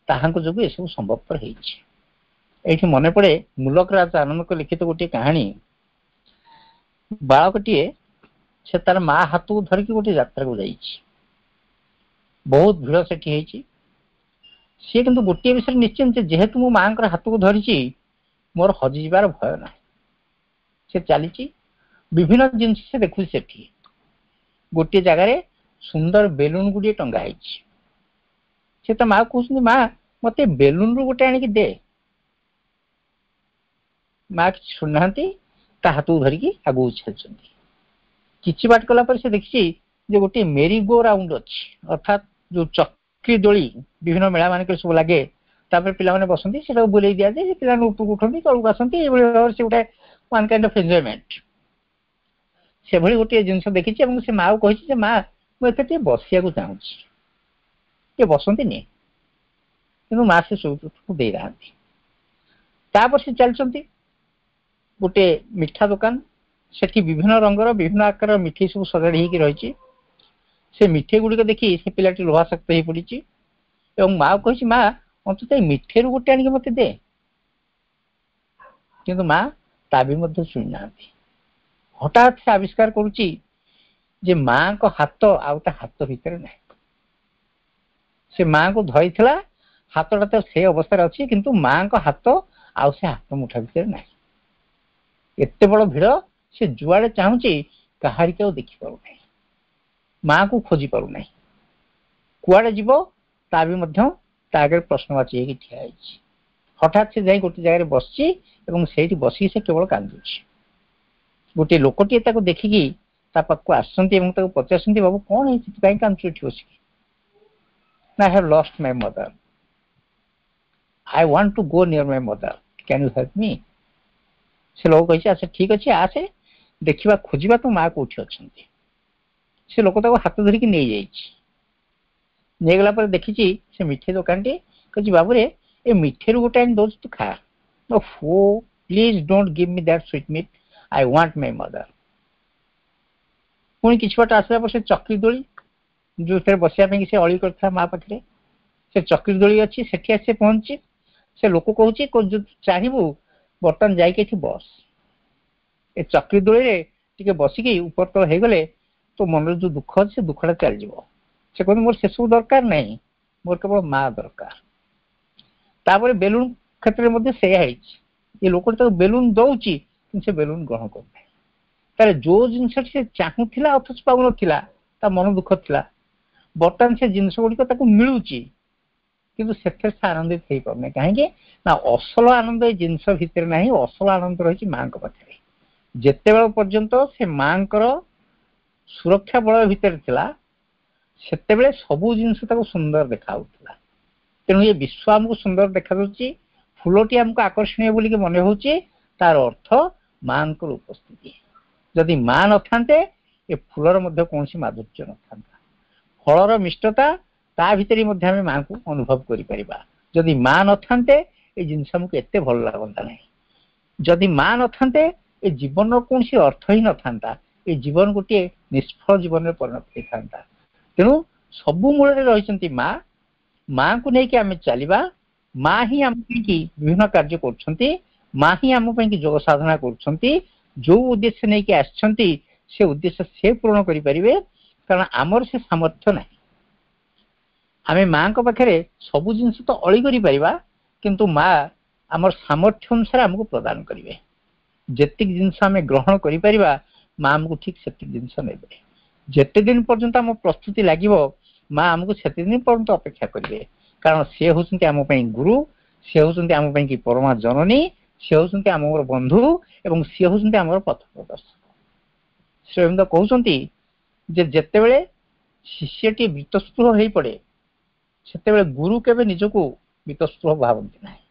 ତାହାଙ୍କ ଯୋଗୁଁ ଏସବୁ ସମ୍ଭବପର ହେଇଛି। ଏଇଠି ମନେ ପଡେ ମୁଲକରାଜ ଆନନ୍ଦଙ୍କ ଲିଖିତ ଗୋଟିଏ କାହାଣୀ। ବାଳକଟିଏ ସେ ତାର ମା ହାତକୁ ଧରିକି ଗୋଟିଏ ଯାତ୍ରାକୁ ଯାଇଛି। ବହୁତ ଭିଡ ସେଠି ହେଇଛି। ସିଏ କିନ୍ତୁ ଗୋଟିଏ ବିଷୟରେ ନିଶ୍ଚିନ୍ତ, ଯେହେତୁ ମୁଁ ମାଙ୍କର ହାତକୁ ଧରିଛି, ମୋର ହଜିଯିବାର ଭୟ ନାହିଁ। ସେ ଚାଲିଛି, ବିଭିନ୍ନ ଜିନିଷ ସେ ଦେଖୁଛି। ସେଠି ଗୋଟିଏ ଜାଗାରେ ସୁନ୍ଦର ବେଲୁନ ଗୁଡିଏ ଟଙ୍ଗା ହେଇଛି। ସେ ତା ମା କହୁଛନ୍ତି, ମା, ମତେ ବେଲୁନରୁ ଗୋଟେ ଆଣିକି ଦେ। ମା କିଛି ଶୁଣୁନାହାନ୍ତି, ତା ହାତକୁ ଧରିକି ଆଗକୁ ଚାଲିଛନ୍ତି। କିଛି ବାଟ କଲା ପରେ ସେ ଦେଖିଛି ଯେ ଗୋଟିଏ ମେରି ଗୋ ରାଉଣ୍ଡ ଅଛି, ଅର୍ଥାତ୍ ଯୋଉ ଚକ୍ରି ଦୋଳି ବିଭିନ୍ନ ମେଳା ମାନଙ୍କରେ ସବୁ ଲାଗେ, ତାପରେ ପିଲାମାନେ ବସନ୍ତି, ସେଟାକୁ ବୁଲେଇ ଦିଆଯାଏ, ସେ ପିଲାମାନେ ଉପରକୁ ଉଠନ୍ତି, ତଳକୁ ଆସନ୍ତି, ଏଇଭଳି ଭାବରେ ସେ ଗୋଟେ ୱାନ୍ କାଇଣ୍ଡ ଅଫ୍ ଏନ୍ଜୟମେଣ୍ଟ। ସେଭଳି ଗୋଟିଏ ଜିନିଷ ଦେଖିଛି ଏବଂ ସେ ମାକୁ କହିଛି ଯେ ମା, ମୁଁ ଏଥିରେ ଟିକେ ବସିବାକୁ ଚାହୁଁଛି, ଟିକେ ବସନ୍ତିନି? କିନ୍ତୁ ମା ସେ ସୁଯୋଗକୁ ଦେଇନାହାନ୍ତି। ତାପରେ ସେ ଚାଲିଛନ୍ତି, ଗୋଟେ ମିଠା ଦୋକାନ, ସେଠି ବିଭିନ୍ନ ରଙ୍ଗର ବିଭିନ୍ନ ଆକାରର ମିଠେଇ ସବୁ ସଜାଡ଼ି ହେଇକି ରହିଛି। ସେ ମିଠେଇ ଗୁଡ଼ିକ ଦେଖି ସେ ପିଲାଟି ଲୋଭାସକ୍ତ ହେଇ ପଡିଛି ଏବଂ ମା କହିଛି, ମା, ଅନ୍ତତଃ ଏଇ ମିଠେଇରୁ ଗୋଟେ ଆଣିକି ମତେ ଦେ। କିନ୍ତୁ ମା ତା ବି ମଧ୍ୟ ଶୁଣିନାହାନ୍ତି। ହଠାତ୍ ସେ ଆବିଷ୍କାର କରୁଛି ଯେ ମାଙ୍କ ହାତ ଆଉ ତା ହାତ ଭିତରେ ନାହିଁ। ସେ ମାଙ୍କୁ ଧରିଥିଲା, ହାତଟା ତ ସେ ଅବସ୍ଥାରେ ଅଛି, କିନ୍ତୁ ମାଙ୍କ ହାତ ଆଉ ସେ ହାତ ମୁଠା ଭିତରେ ନାହିଁ। ଏତେ ବଡ ଭିଡ, ସେ ଯୁଆଡେ ଚାହୁଁଛି କାହାରିକି ଆଉ ଦେଖିପାରୁନାହିଁ, ମାକୁ ଖୋଜି ପାରୁନାହିଁ। କୁଆଡେ ଯିବ ତା ବି ମଧ୍ୟ ତା ଆଗରେ ପ୍ରଶ୍ନବାଚୀ ହେଇକି ଠିଆ ହେଇଛି। ହଠାତ୍ ସେ ଯାଇ ଗୋଟେ ଜାଗାରେ ବସିଛି ଏବଂ ସେଇଠି ବସିକି ସେ କେବଳ କାନ୍ଦୁଛି। ଗୋଟିଏ ଲୋକଟିଏ ତାକୁ ଦେଖିକି ତା ପାଖକୁ ଆସୁଛନ୍ତି ଏବଂ ତାକୁ ପଚାରୁଛନ୍ତି, ବାବୁ କଣ ହେଇଛି, କାହିଁ କାନ୍ଦୁଛୁ ଏଠି ବସିକି? ନା, I have lost my mother, I want to go near my mother, can you help me? ସେ ଲୋକ କହିଛି, ଆଚ୍ଛା ଠିକ ଅଛି, ଆସେ ଦେଖିବା, ଖୋଜିବା ତୋ ମା କୋଉଠି ଅଛନ୍ତି। ସେ ଲୋକ ତାକୁ ହାତ ଧରିକି ନେଇଯାଇଛି। ନେଇଗଲା ପରେ ଦେଖିଛି ସେ ମିଠେଇ ଦୋକାନଟି। କହିଛି, ବାବୁରେ, ଏ ମିଠେଇରୁ ଗୋଟେ ଆଣି ଦଉଛି, ତୁ ଖା। Oh, please don't give me that sweetmeat, I want my mother. ପୁଣି କିଛି ବାଟ ଆସିଲା ପରେ ସେ ଚକ୍ରି ଦୋଳି, ଯୋଉଥିରେ ବସିବା ପାଇଁ ସେ ଅଳି କରିଥିଲା ମା ପାଖରେ, ସେ ଚକ୍ରି ଦୋଳି ଅଛି, ସେଠି ଆସି ପହଞ୍ଚି ସେ ଲୋକ କହୁଛି, ଯଦି ଚାହିଁବୁ ବର୍ତ୍ତମାନ ଯାଇକି ଏଠି ବସ, ଏ ଚକ୍ରି ଦୋଳିରେ ଟିକେ ବସିକି ଉପର ତଳ ହେଇଗଲେ ତୋ ମନରେ ଯୋଉ ଦୁଃଖ ଅଛି ସେ ଦୁଃଖଟା ଚାଲିଯିବ। ସେ କହୁଛି, ମୋର ସେସବୁ ଦରକାର ନାହିଁ, ମୋର କେବଳ ମା ଦରକାର। ତାପରେ ବେଲୁନ କ୍ଷେତ୍ରରେ ମଧ୍ୟ ସେଇଆ ହେଇଛି। ଏ ଲୋକଟି ତାକୁ ବେଲୁନ ଦଉଛି, କିନ୍ତୁ ସେ ବେଲୁନ ଗ୍ରହଣ କରୁନାହିଁ। ତାହେଲେ ଯୋଉ ଜିନିଷଟି ସେ ଚାହୁଁଥିଲା ଅଥଚ ପାଉନଥିଲା, ତା ମନ ଦୁଃଖ ଥିଲା, ବର୍ତ୍ତମାନ ସେ ଜିନିଷ ଗୁଡିକ ତାକୁ ମିଳୁଛି, କିନ୍ତୁ ସେଥିରେ ସେ ଆନନ୍ଦିତ ହେଇପାରୁନାହିଁ। କାହିଁକି ନା ଅସଲ ଆନନ୍ଦ ଏଇ ଜିନିଷ ଭିତରେ ନାହିଁ, ଅସଲ ଆନନ୍ଦ ରହିଛି ମାଙ୍କ ପାଖରେ। ଯେତେବେଳେ ପର୍ଯ୍ୟନ୍ତ ସେ ମାଙ୍କର ସୁରକ୍ଷା ବଳୟ ଭିତରେ ଥିଲା, ସେତେବେଳେ ସବୁ ଜିନିଷ ତାକୁ ସୁନ୍ଦର ଦେଖାଯାଉଥିଲା। ତେଣୁ ଏ ବିଶ୍ଵ ଆମକୁ ସୁନ୍ଦର ଦେଖାଯାଉଛି, ଫୁଲଟି ଆମକୁ ଆକର୍ଷଣୀୟ ବୋଲିକି ମନେ ହଉଛି, ତାର ଅର୍ଥ ମାଙ୍କର ଉପସ୍ଥିତି। ଯଦି ମା ନଥାନ୍ତେ, ଏ ଫୁଲର ମଧ୍ୟ କୌଣସି ମାଧୁର୍ଯ୍ୟ ନଥାନ୍ତା। ଫଳର ମିଷ୍ଟତା, ତା ଭିତରେ ମଧ୍ୟ ଆମେ ମାଙ୍କୁ ଅନୁଭବ କରିପାରିବା। ଯଦି ମା ନଥାନ୍ତେ, ଏ ଜିନିଷ ଆମକୁ ଏତେ ଭଲ ଲାଗନ୍ତା ନାହିଁ। ଯଦି ମା ନଥାନ୍ତେ, ଏ ଜୀବନର କୌଣସି ଅର୍ଥ ହିଁ ନଥାନ୍ତା। ଏ ଜୀବନ ଗୋଟିଏ ନିଷ୍ଫଳ ଜୀବନରେ ପରିଣତ ହେଇଥାନ୍ତା। ତେଣୁ ସବୁ ମୂଳରେ ରହିଛନ୍ତି ମା। ମାଙ୍କୁ ନେଇକି ଆମେ ଚାଲିବା। ମା ହିଁ ଆମ ପାଇଁକି ବିଭିନ୍ନ କାର୍ଯ୍ୟ କରୁଛନ୍ତି, ମା ହିଁ ଆମ ପାଇଁକି ଯୋଗ ସାଧନା କରୁଛନ୍ତି। ଯୋଉ ଉଦ୍ଦେଶ୍ୟ ନେଇକି ଆସିଛନ୍ତି, ସେ ଉଦ୍ଦେଶ୍ୟ ସେ ପୂରଣ କରିପାରିବେ, କାରଣ ଆମର ସେ ସାମର୍ଥ୍ୟ ନାହିଁ। ଆମେ ମାଙ୍କ ପାଖରେ ସବୁ ଜିନିଷ ତ ଅଳି କରିପାରିବା, କିନ୍ତୁ ମା ଆମର ସାମର୍ଥ୍ୟ ଅନୁସାରେ ଆମକୁ ପ୍ରଦାନ କରିବେ। ଯେତିକି ଜିନିଷ ଆମେ ଗ୍ରହଣ କରିପାରିବା, ମା ଆମକୁ ଠିକ ସେତିକି ଜିନିଷ ନେବେ। ଯେତେ ଦିନ ପର୍ଯ୍ୟନ୍ତ ଆମ ପ୍ରସ୍ତୁତି ଲାଗିବ, ମା ଆମକୁ ସେତେ ଦିନ ପର୍ଯ୍ୟନ୍ତ ଅପେକ୍ଷା କରିବେ, କାରଣ ସେ ହଉଛନ୍ତି ଆମ ପାଇଁ ଗୁରୁ, ସେ ହଉଛନ୍ତି ଆମ ପାଇଁ କି ପରମା ଜନନୀ, ସେ ହଉଛନ୍ତି ଆମର ବନ୍ଧୁ ଏବଂ ସିଏ ହଉଛନ୍ତି ଆମର ପଥ ପ୍ରଦର୍ଶକ। ଶ୍ରୀ କହୁଛନ୍ତି ଯେ ଯେତେବେଳେ ଶିଷ୍ୟଟି ବୀତସ୍ପୃହ ହେଇପଡେ, ସେତେବେଳେ ଗୁରୁ କେବେ ନିଜକୁ ବୀତସ୍ପୃହ ଭାବନ୍ତି ନାହିଁ।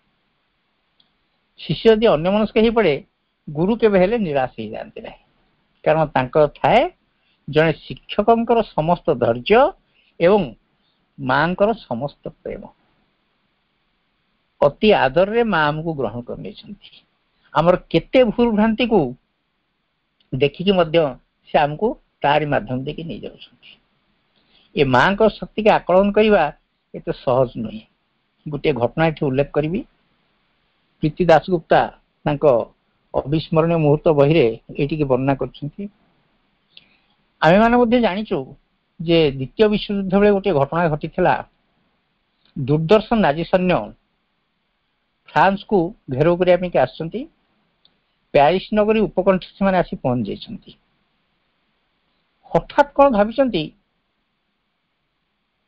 ଶିଷ୍ୟ ଯଦି ଅନ୍ୟମନସ୍କ ହେଇପଡେ, ଗୁରୁ କେବେ ହେଲେ ନିରାଶ ହେଇଯାଆନ୍ତି ନାହିଁ, କାରଣ ତାଙ୍କର ଥାଏ ଜଣେ ଶିକ୍ଷକଙ୍କର ସମସ୍ତ ଧୈର୍ଯ୍ୟ ଏବଂ ମାଙ୍କର ସମସ୍ତ ପ୍ରେମ। ଅତି ଆଦରରେ ମା ଆମକୁ ଗ୍ରହଣ କରିନେଇଛନ୍ତି। ଆମର କେତେ ଭୁଲ ଭ୍ରାନ୍ତିକୁ ଦେଖିକି ମଧ୍ୟ ସେ ଆମକୁ ତାରି ମାଧ୍ୟମ ଦେଇକି ନେଇଯାଉଛନ୍ତି। ଏ ମାଙ୍କ ଶକ୍ତିକି ଆକଳନ କରିବା ଏତେ ସହଜ ନୁହେଁ। ଗୋଟିଏ ଘଟଣା ଏଠି ଉଲ୍ଲେଖ କରିବି। ପ୍ରୀତି ଦାସଗୁପ୍ତା ତାଙ୍କ ଅବିସ୍ମରଣୀୟ ମୁହୂର୍ତ୍ତ ବହିରେ ଏଇଟିକି ବର୍ଣ୍ଣନା କରିଛନ୍ତି। ଆମେମାନେ ମଧ୍ୟ ଜାଣିଛୁ ଯେ ଦ୍ୱିତୀୟ ବିଶ୍ୱଯୁଦ୍ଧ ବେଳେ ଗୋଟିଏ ଘଟଣା ଘଟିଥିଲା। ଦୁର୍ଦର୍ଶ ନାଜି ସୈନ୍ୟ ଫ୍ରାନ୍ସକୁ ଘେରାଉ କରିବା ପାଇଁ ଆସିଛନ୍ତି। ପ୍ୟାରିସ ନଗରୀ ଉପକଣ୍ଠ ସେମାନେ ଆସି ପହଞ୍ଚି ଯାଇଛନ୍ତି। ହଠାତ୍ କଣ ଭାବିଛନ୍ତି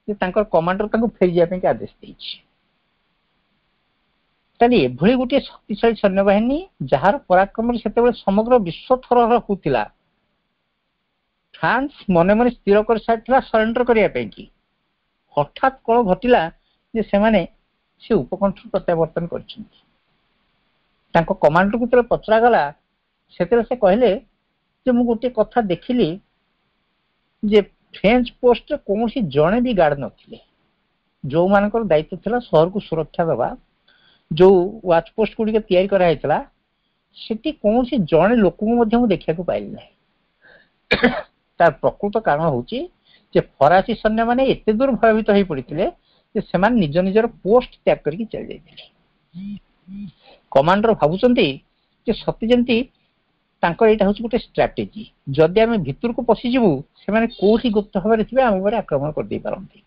ଯେ ତାଙ୍କର କମାଣ୍ଡର ତାଙ୍କୁ ଫେରିଯିବା ପାଇଁ ଆଦେଶ ଦେଇଛି। ତାହେଲେ ଏଭଳି ଗୋଟିଏ ଶକ୍ତିଶାଳୀ ସୈନ୍ୟବାହିନୀ, ଯାହାର ପରାକ୍ରମରେ ସେତେବେଳେ ସମଗ୍ର ବିଶ୍ୱ ଥରହର ହଉଥିଲା, ଫ୍ରାନ୍ସ ମନେ ମନେ ସ୍ଥିର କରିସାରିଥିଲା ସରେଣ୍ଡର କରିବା ପାଇଁ କି, ହଠାତ୍ କଣ ଘଟିଲା ଯେ ସେମାନେ ସେ ଉପକଣ୍ଠରୁ ପ୍ରତ୍ୟାବର୍ତ୍ତନ କରିଛନ୍ତି। ତାଙ୍କ କମାଣ୍ଡରକୁ ଯେତେବେଳେ ପଚରାଗଲା, ସେତେବେଳେ ସେ କହିଲେ ଯେ ମୁଁ ଗୋଟିଏ କଥା ଦେଖିଲି ଯେ ଫ୍ରେଞ୍ଚ ପୋଷ୍ଟରେ କୌଣସି ଜଣେ ବି ଗାର୍ଡ ନଥିଲେ। ଯୋଉମାନଙ୍କର ଦାୟିତ୍ୱ ଥିଲା ସହରକୁ ସୁରକ୍ଷା ଦେବା, ଯୋଉ ୱାଚ ପୋଷ୍ଟ ଗୁଡିକ ତିଆରି କରାହେଇଥିଲା, ସେଠି କୌଣସି ଜଣେ ଲୋକଙ୍କୁ ମଧ୍ୟ ମୁଁ ଦେଖିବାକୁ ପାଇଲି ନାହିଁ। ତାର ପ୍ରକୃତ କାରଣ ହଉଛି ଯେ ଫରାସୀ ସୈନ୍ୟମାନେ ଏତେ ଦୂର ଭୟଭୀତ ହେଇ ପଡିଥିଲେ ଯେ ସେମାନେ ନିଜ ନିଜର ପୋଷ୍ଟ ତ୍ୟାଗ କରିକି ଚାଲି ଯାଇଥିଲେ। କମାଣ୍ଡର ଭାବୁଛନ୍ତି ଯେ ସତେ ଯେମିତି ତାଙ୍କର ଏଇଟା ହଉଛି ଗୋଟେ ଷ୍ଟ୍ରାଟେଜି, ଯଦି ଆମେ ଭିତରକୁ ପଶିଯିବୁ, ସେମାନେ କୋଉଠି ଗୁପ୍ତ ଭାବରେ ଥିବେ, ଆମ ଉପରେ ଆକ୍ରମଣ କରିଦେଇ ପାରନ୍ତି।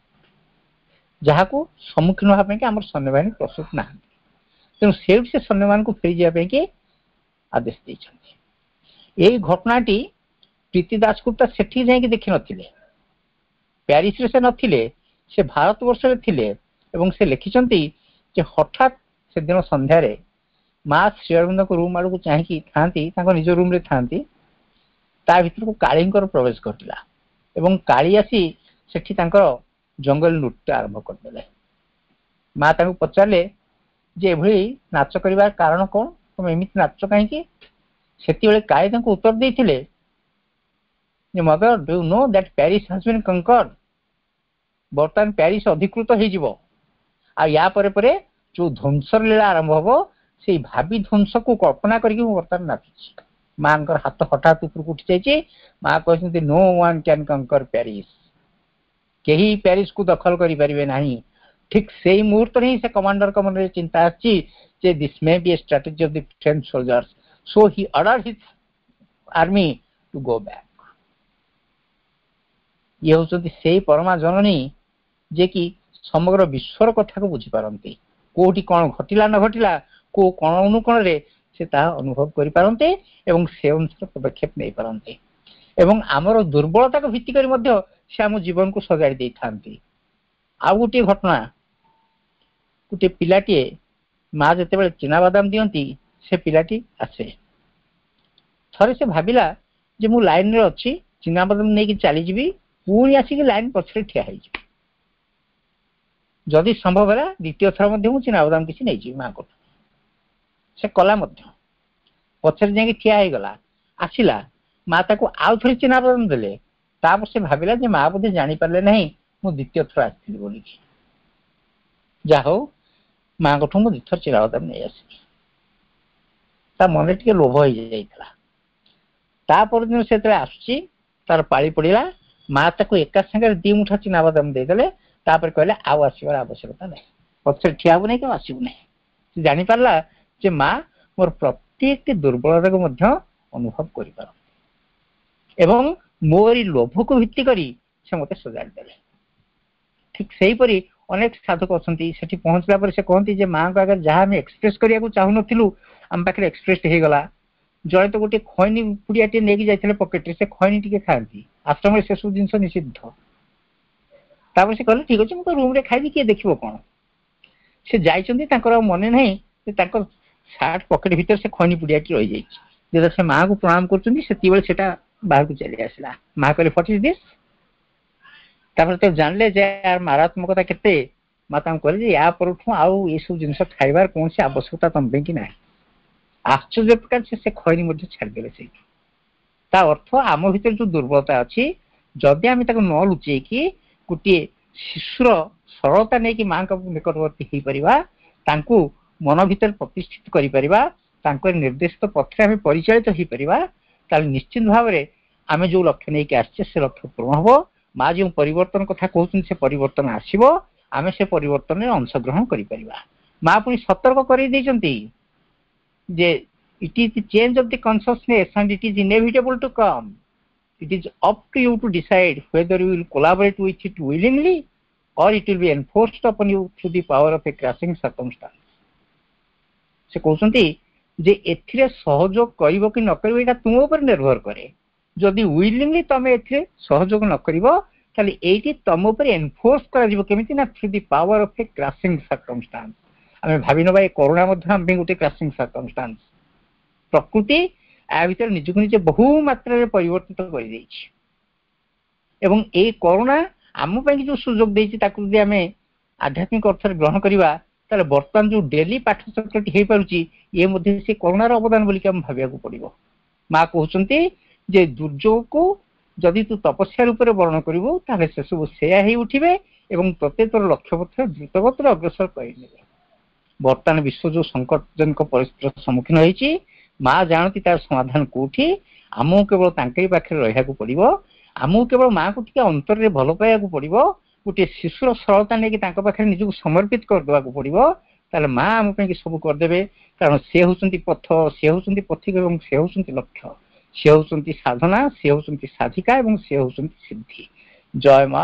ଯାହାକୁ ସମ୍ମୁଖୀନ ହେବା ପାଇଁକି ଆମର ସୈନ୍ୟବାହିନୀ ପ୍ରସ୍ତୁତ ନାହାନ୍ତି। ତେଣୁ ସେଇଠୁ ସେ ସୈନ୍ୟମାନଙ୍କୁ ଫେରିଯିବା ପାଇଁକି ଆଦେଶ ଦେଇଛନ୍ତି। ଏଇ ଘଟଣାଟି ପ୍ରୀତି ଦାସଗୁପ୍ତା ସେଠି ଯାଇକି ଦେଖିନଥିଲେ, ପ୍ୟାରିସରେ ସେ ନଥିଲେ, ସେ ଭାରତବର୍ଷରେ ଥିଲେ। ଏବଂ ସେ ଲେଖିଛନ୍ତି ଯେ ହଠାତ୍ ସେଦିନ ସନ୍ଧ୍ୟାରେ ମା ଶ୍ରୀ ଅରବିନ୍ଦଙ୍କ ରୁମ୍ ଆଡ଼କୁ ଚାହିଁକି ଥାଆନ୍ତି, ତାଙ୍କ ନିଜ ରୁମ୍ରେ ଥାଆନ୍ତି, ତା ଭିତରକୁ କାଳୀଙ୍କର ପ୍ରବେଶ ଘଟିଲା ଏବଂ କାଳୀ ଆସି ସେଠି ତାଙ୍କର ଜଙ୍ଗଲ ନୃତ୍ୟ ଆରମ୍ଭ କରିଦେଲେ। ମା ତାଙ୍କୁ ପଚାରିଲେ ଯେ ଏଭଳି ନାଚ କରିବାର କାରଣ କଣ, ତମେ ଏମିତି ନାଚ କାହିଁକି? ସେତିବେଳେ କାଳୀ ତାଙ୍କୁ ଉତ୍ତର ଦେଇଥିଲେ ଯେ, "Mother, do you know that Paris has been conquered?" ବର୍ତ୍ତମାନ ପ୍ୟାରିସ ଅଧିକୃତ ହେଇଯିବ ଆଉ ୟା ପରେ ପରେ ଯୋଉ ଧ୍ୱଂସର ଲୀଳା ଆରମ୍ଭ ହବ, ସେଇ ଭାବି ଧ୍ୱଂସକୁ କଳ୍ପନା କରିକି ମୁଁ ବର୍ତ୍ତମାନ ନାଚୁଛି। ମାଙ୍କର ହାତ ହଠାତ୍ ଉପରକୁ ଉଠି ଯାଇଛି। ମା କହିଛନ୍ତି, "No one can conquer Paris." କେହି ପ୍ୟାରିସକୁ ଦଖଲ କରିପାରିବେ ନାହିଁ। ଠିକ ସେଇ ମୁହୂର୍ତ୍ତରେ ହିଁ ସେ କମାଣ୍ଡରଙ୍କ ମନରେ ଚିନ୍ତା ଆସିଛି ଯେ this may be a strategy of the French soldiers, so he order his army to go back. ଇଏ ହଉଛନ୍ତି ସେଇ ପରମା ଜନନୀ, ଯିଏକି ସମଗ୍ର ବିଶ୍ୱର କଥାକୁ ବୁଝିପାରନ୍ତି। କୋଉଠି କଣ ଘଟିଲା ନ ଘଟିଲା, କୋଉ କୋଣ ଅନୁକୋଣରେ ସେ ତାହା ଅନୁଭବ କରିପାରନ୍ତି ଏବଂ ସେ ଅନୁସାରେ ପଦକ୍ଷେପ ନେଇପାରନ୍ତି ଏବଂ ଆମର ଦୁର୍ବଳତାକୁ ଭିତ୍ତି କରି ମଧ୍ୟ ସେ ଆମ ଜୀବନକୁ ସଜାଡ଼ି ଦେଇଥାନ୍ତି। ଆଉ ଗୋଟିଏ ଘଟଣା, ଗୋଟିଏ ପିଲାଟିଏ, ମା ଯେତେବେଳେ ଚିନାବାଦାମ ଦିଅନ୍ତି, ସେ ପିଲାଟି ଆସେ। ଥରେ ସେ ଭାବିଲା ଯେ ମୁଁ ଲାଇନରେ ଅଛି, ଚିନାବାଦାମ ନେଇକି ଚାଲିଯିବି, ପୁଣି ଆସିକି ଲାଇନ ପଛରେ ଠିଆ ହେଇଯିବି, ଯଦି ସମ୍ଭବ ହେଲା ଦ୍ୱିତୀୟ ଥର ମଧ୍ୟ ମୁଁ ଚିନାବାଦାମ କିଛି ନେଇଯିବି ମାଙ୍କଠୁ। ସେ କଲା ମଧ୍ୟ, ପଛରେ ଯାଇକି ଠିଆ ହେଇଗଲା। ଆସିଲା, ମା ତାକୁ ଆଉ ଥରେ ଚିନାବାଦାମ ଦେଲେ। ତାପରେ ସେ ଭାବିଲା ଯେ ମା ବୋଧେ ଜାଣିପାରିଲେ ନାହିଁ ମୁଁ ଦ୍ୱିତୀୟ ଥର ଆସିଥିଲି ବୋଲିକି, ଯାହା ହଉ ମାଙ୍କଠୁ ମୁଁ ଦୁଇଥର ଚିନାବାଦାମ ନେଇ ଆସିଲି। ତା ମନରେ ଟିକେ ଲୋଭ ହେଇଯାଇଥିଲା। ତା ପରଦିନ ସେ ଯେତେବେଳେ ଆସୁଛି, ତାର ପାଳି ପଡିଲା, ମା ତାକୁ ଏକା ସାଙ୍ଗରେ ଦି ମୁଠା ଚିନାବାଦାମ ଦେଇଦେଲେ। ତାପରେ କହିଲେ, ଆଉ ଆସିବାର ଆବଶ୍ୟକତା ନାହିଁ, ପଛରେ ଠିଆ ହବୁ ନାହିଁ କି ଆଉ ଆସିବୁ ନାହିଁ। ସେ ଜାଣିପାରିଲା ଯେ ମା ମୋର ପ୍ରତ୍ୟେକଟି ଦୁର୍ବଳତାକୁ ମଧ୍ୟ ଅନୁଭବ କରିପାରନ୍ତି ଏବଂ ମୋରି ଲୋଭକୁ ଭିତ୍ତି କରି ସେ ମତେ ସଜାଡ଼ି ଦେଲେ। ଠିକ ସେହିପରି ଅନେକ ସାଧକ ଅଛନ୍ତି, ସେଠି ପହଞ୍ଚିଲା ପରେ ସେ କହନ୍ତି ଯେ ମାଙ୍କ ଆଗରେ ଯାହା ଆମେ ଏକ୍ସପ୍ରେସ କରିବାକୁ ଚାହୁଁନଥିଲୁ, ଆମ ପାଖରେ ଏକ୍ସପ୍ରେସ ହେଇଗଲା। ଜଣେ ତ ଗୋଟେ ଖଇନି ପୁଡିଆଟିଏ ନେଇକି ଯାଇଥିଲେ ପକେଟରେ, ସେ ଖଇନି ଟିକେ ଖାଆନ୍ତି। ଆଶ୍ରମରେ ସେସବୁ ଜିନିଷ ନିଷିଦ୍ଧ। ତାପରେ ସେ କହିଲେ, ଠିକ ଅଛି, ମୁଁ ତ ରୁମରେ ଖାଇବି, କିଏ ଦେଖିବ କଣ? ସେ ଯାଇଛନ୍ତି, ତାଙ୍କର ଆଉ ମନେ ନାହିଁ ଯେ ତାଙ୍କ ସାର୍ଟ ପକେଟ ଭିତରେ ସେ ଖଇନି ପୁଡିଆଟି ରହିଯାଇଛି। ଯେତେବେଳେ ସେ ମାଙ୍କୁ ପ୍ରଣାମ କରୁଛନ୍ତି, ସେତିକିବେଳେ ସେଟା ବାହାରକୁ ଚାଲି ଆସିଲା। ମା କହିଲେ, "What is this?" ତାପରେ ତ ଜାଣିଲେ ଯେ ୟାର ମାରାତ୍ମକତା କେତେ। ମା ତାଙ୍କୁ କହିଲେ ଯେ ୟା ପରଠୁ ଆଉ ଏସବୁ ଜିନିଷ ଖାଇବାର କୌଣସି ଆବଶ୍ୟକତା ତମ ପାଇଁ କି ନାହିଁ। ଆଶ୍ଚର୍ଯ୍ୟ ପ୍ରକାର ସେ ଖଇନି ମଧ୍ୟ ଛାଡ଼ିଦେଲେ ସେଇଠି। ତା ଅର୍ଥ ଆମ ଭିତରେ ଯୋଉ ଦୁର୍ବଳତା ଅଛି, ଯଦି ଆମେ ତାକୁ ନ ଲୁଚେଇକି ଗୋଟିଏ ଶିଶୁର ସରଳତା ନେଇକି ମାଙ୍କ ନିକଟବର୍ତ୍ତୀ ହେଇପାରିବା, ତାଙ୍କୁ ମନ ଭିତରେ ପ୍ରତିଷ୍ଠିତ କରିପାରିବା, ତାଙ୍କ ନିର୍ଦ୍ଦେଶିତ ପଥରେ ଆମେ ପରିଚାଳିତ ହେଇପାରିବା, ତାହେଲେ ନିଶ୍ଚିତ ଭାବରେ ଆମେ ଯୋଉ ଲକ୍ଷ୍ୟ ନେଇକି ଆସିଛେ, ସେ ଲକ୍ଷ୍ୟ ପୂରଣ ହବ। ମା ଯେଉଁ ପରିବର୍ତ୍ତନ କଥା କହୁଛନ୍ତି, ସେ ପରିବର୍ତ୍ତନ ଆସିବ, ଆମେ ସେ ପରିବର୍ତ୍ତନରେ ଅଂଶଗ୍ରହଣ କରିପାରିବା। ମା ପୁଣି ସତର୍କ କରେଇ ଦେଇଛନ୍ତି ଯେ it is the change of the consciousness and it is inevitable to come. It is up to you to decide whether you will collaborate with it willingly or it will be enforced upon you through the power of a crushing circumstance. ସେ କହୁଛନ୍ତି ଯେ ଏଥିରେ ସହଯୋଗ କରିବ କି ନ କରିବ, ଏଇଟା ତୁମ ଉପରେ ନିର୍ଭର କରେ। ଯଦି ୱିଲିଂଲି ତମେ ଏଥିରେ ସହଯୋଗ ନ କରିବ, ତାହେଲେ ଏଇଠି ତମ ଉପରେ ଏନଫୋର୍ସ କରାଯିବ। କେମିତି ନା through the power of a crushing circumstance. ଆମେ ଭାବି ନବା, ଏ କରୋନା ମଧ୍ୟ ଆମ ପାଇଁ ଗୋଟେ କ୍ରସିଂ ସର୍କମଷ୍ଟାନ୍ସ। ପ୍ରକୃତି ୟା ଭିତରେ ନିଜକୁ ନିଜେ ବହୁ ମାତ୍ରାରେ ପରିବର୍ତ୍ତିତ କରିଦେଇଛି ଏବଂ ଏଇ କରୋନା ଆମ ପାଇଁ ଯୋଉ ସୁଯୋଗ ଦେଇଛି, ତାକୁ ଯଦି ଆମେ ଆଧ୍ୟାତ୍ମିକ ଅର୍ଥରେ ଗ୍ରହଣ କରିବା, ତାହେଲେ ବର୍ତ୍ତମାନ ଯୋଉ ଡେଲି ପାଠଚକ୍ରଟି ହେଇପାରୁଛି, ଇଏ ମଧ୍ୟ ସେ କରୋନାର ଅବଦାନ ବୋଲିକି ଆମେ ଭାବିବାକୁ ପଡିବ। ମା କହୁଛନ୍ତି ଯେ ଦୁର୍ଯୋଗକୁ ଯଦି ତୁ ତପସ୍ୟା ରୂପରେ ବରଣ କରିବୁ, ତାହେଲେ ସେସବୁ ସେୟା ହେଇ ଉଠିବେ ଏବଂ ତତେ ତୋର ଲକ୍ଷ୍ୟ ପଥରେ ଦ୍ରୁତଗତିରେ ଅଗ୍ରସର କରିନେବେ। ବର୍ତ୍ତମାନ ବିଶ୍ୱ ଯୋଉ ସଙ୍କଟଜନକ ପରିସ୍ଥିତିର ସମ୍ମୁଖୀନ ହେଇଛି, ମା ଜାଣନ୍ତି ତାର ସମାଧାନ କୋଉଠି। ଆମକୁ କେବଳ ତାଙ୍କରି ପାଖରେ ରହିବାକୁ ପଡିବ। ଆମକୁ କେବଳ ମାଙ୍କୁ ଟିକେ ଅନ୍ତରରେ ଭଲ ପାଇବାକୁ ପଡିବ। ଗୋଟିଏ ଶିଶୁର ସରଳତା ନେଇକି ତାଙ୍କ ପାଖରେ ନିଜକୁ ସମର୍ପିତ କରିଦେବାକୁ ପଡିବ। ତାହେଲେ ମା ଆମ ପାଇଁ ସବୁ କରିଦେବେ, କାରଣ ସେ ହଉଛନ୍ତି ପଥ, ସେ ହଉଛନ୍ତି ପଥିକ ଏବଂ ସେ ହଉଛନ୍ତି ଲକ୍ଷ୍ୟ। ସେ ହଉଛନ୍ତି ସାଧନା, ସେ ହଉଛନ୍ତି ସାଧିକା ଏବଂ ସେ ହଉଛନ୍ତି ସିଦ୍ଧି। ଜୟ ମା,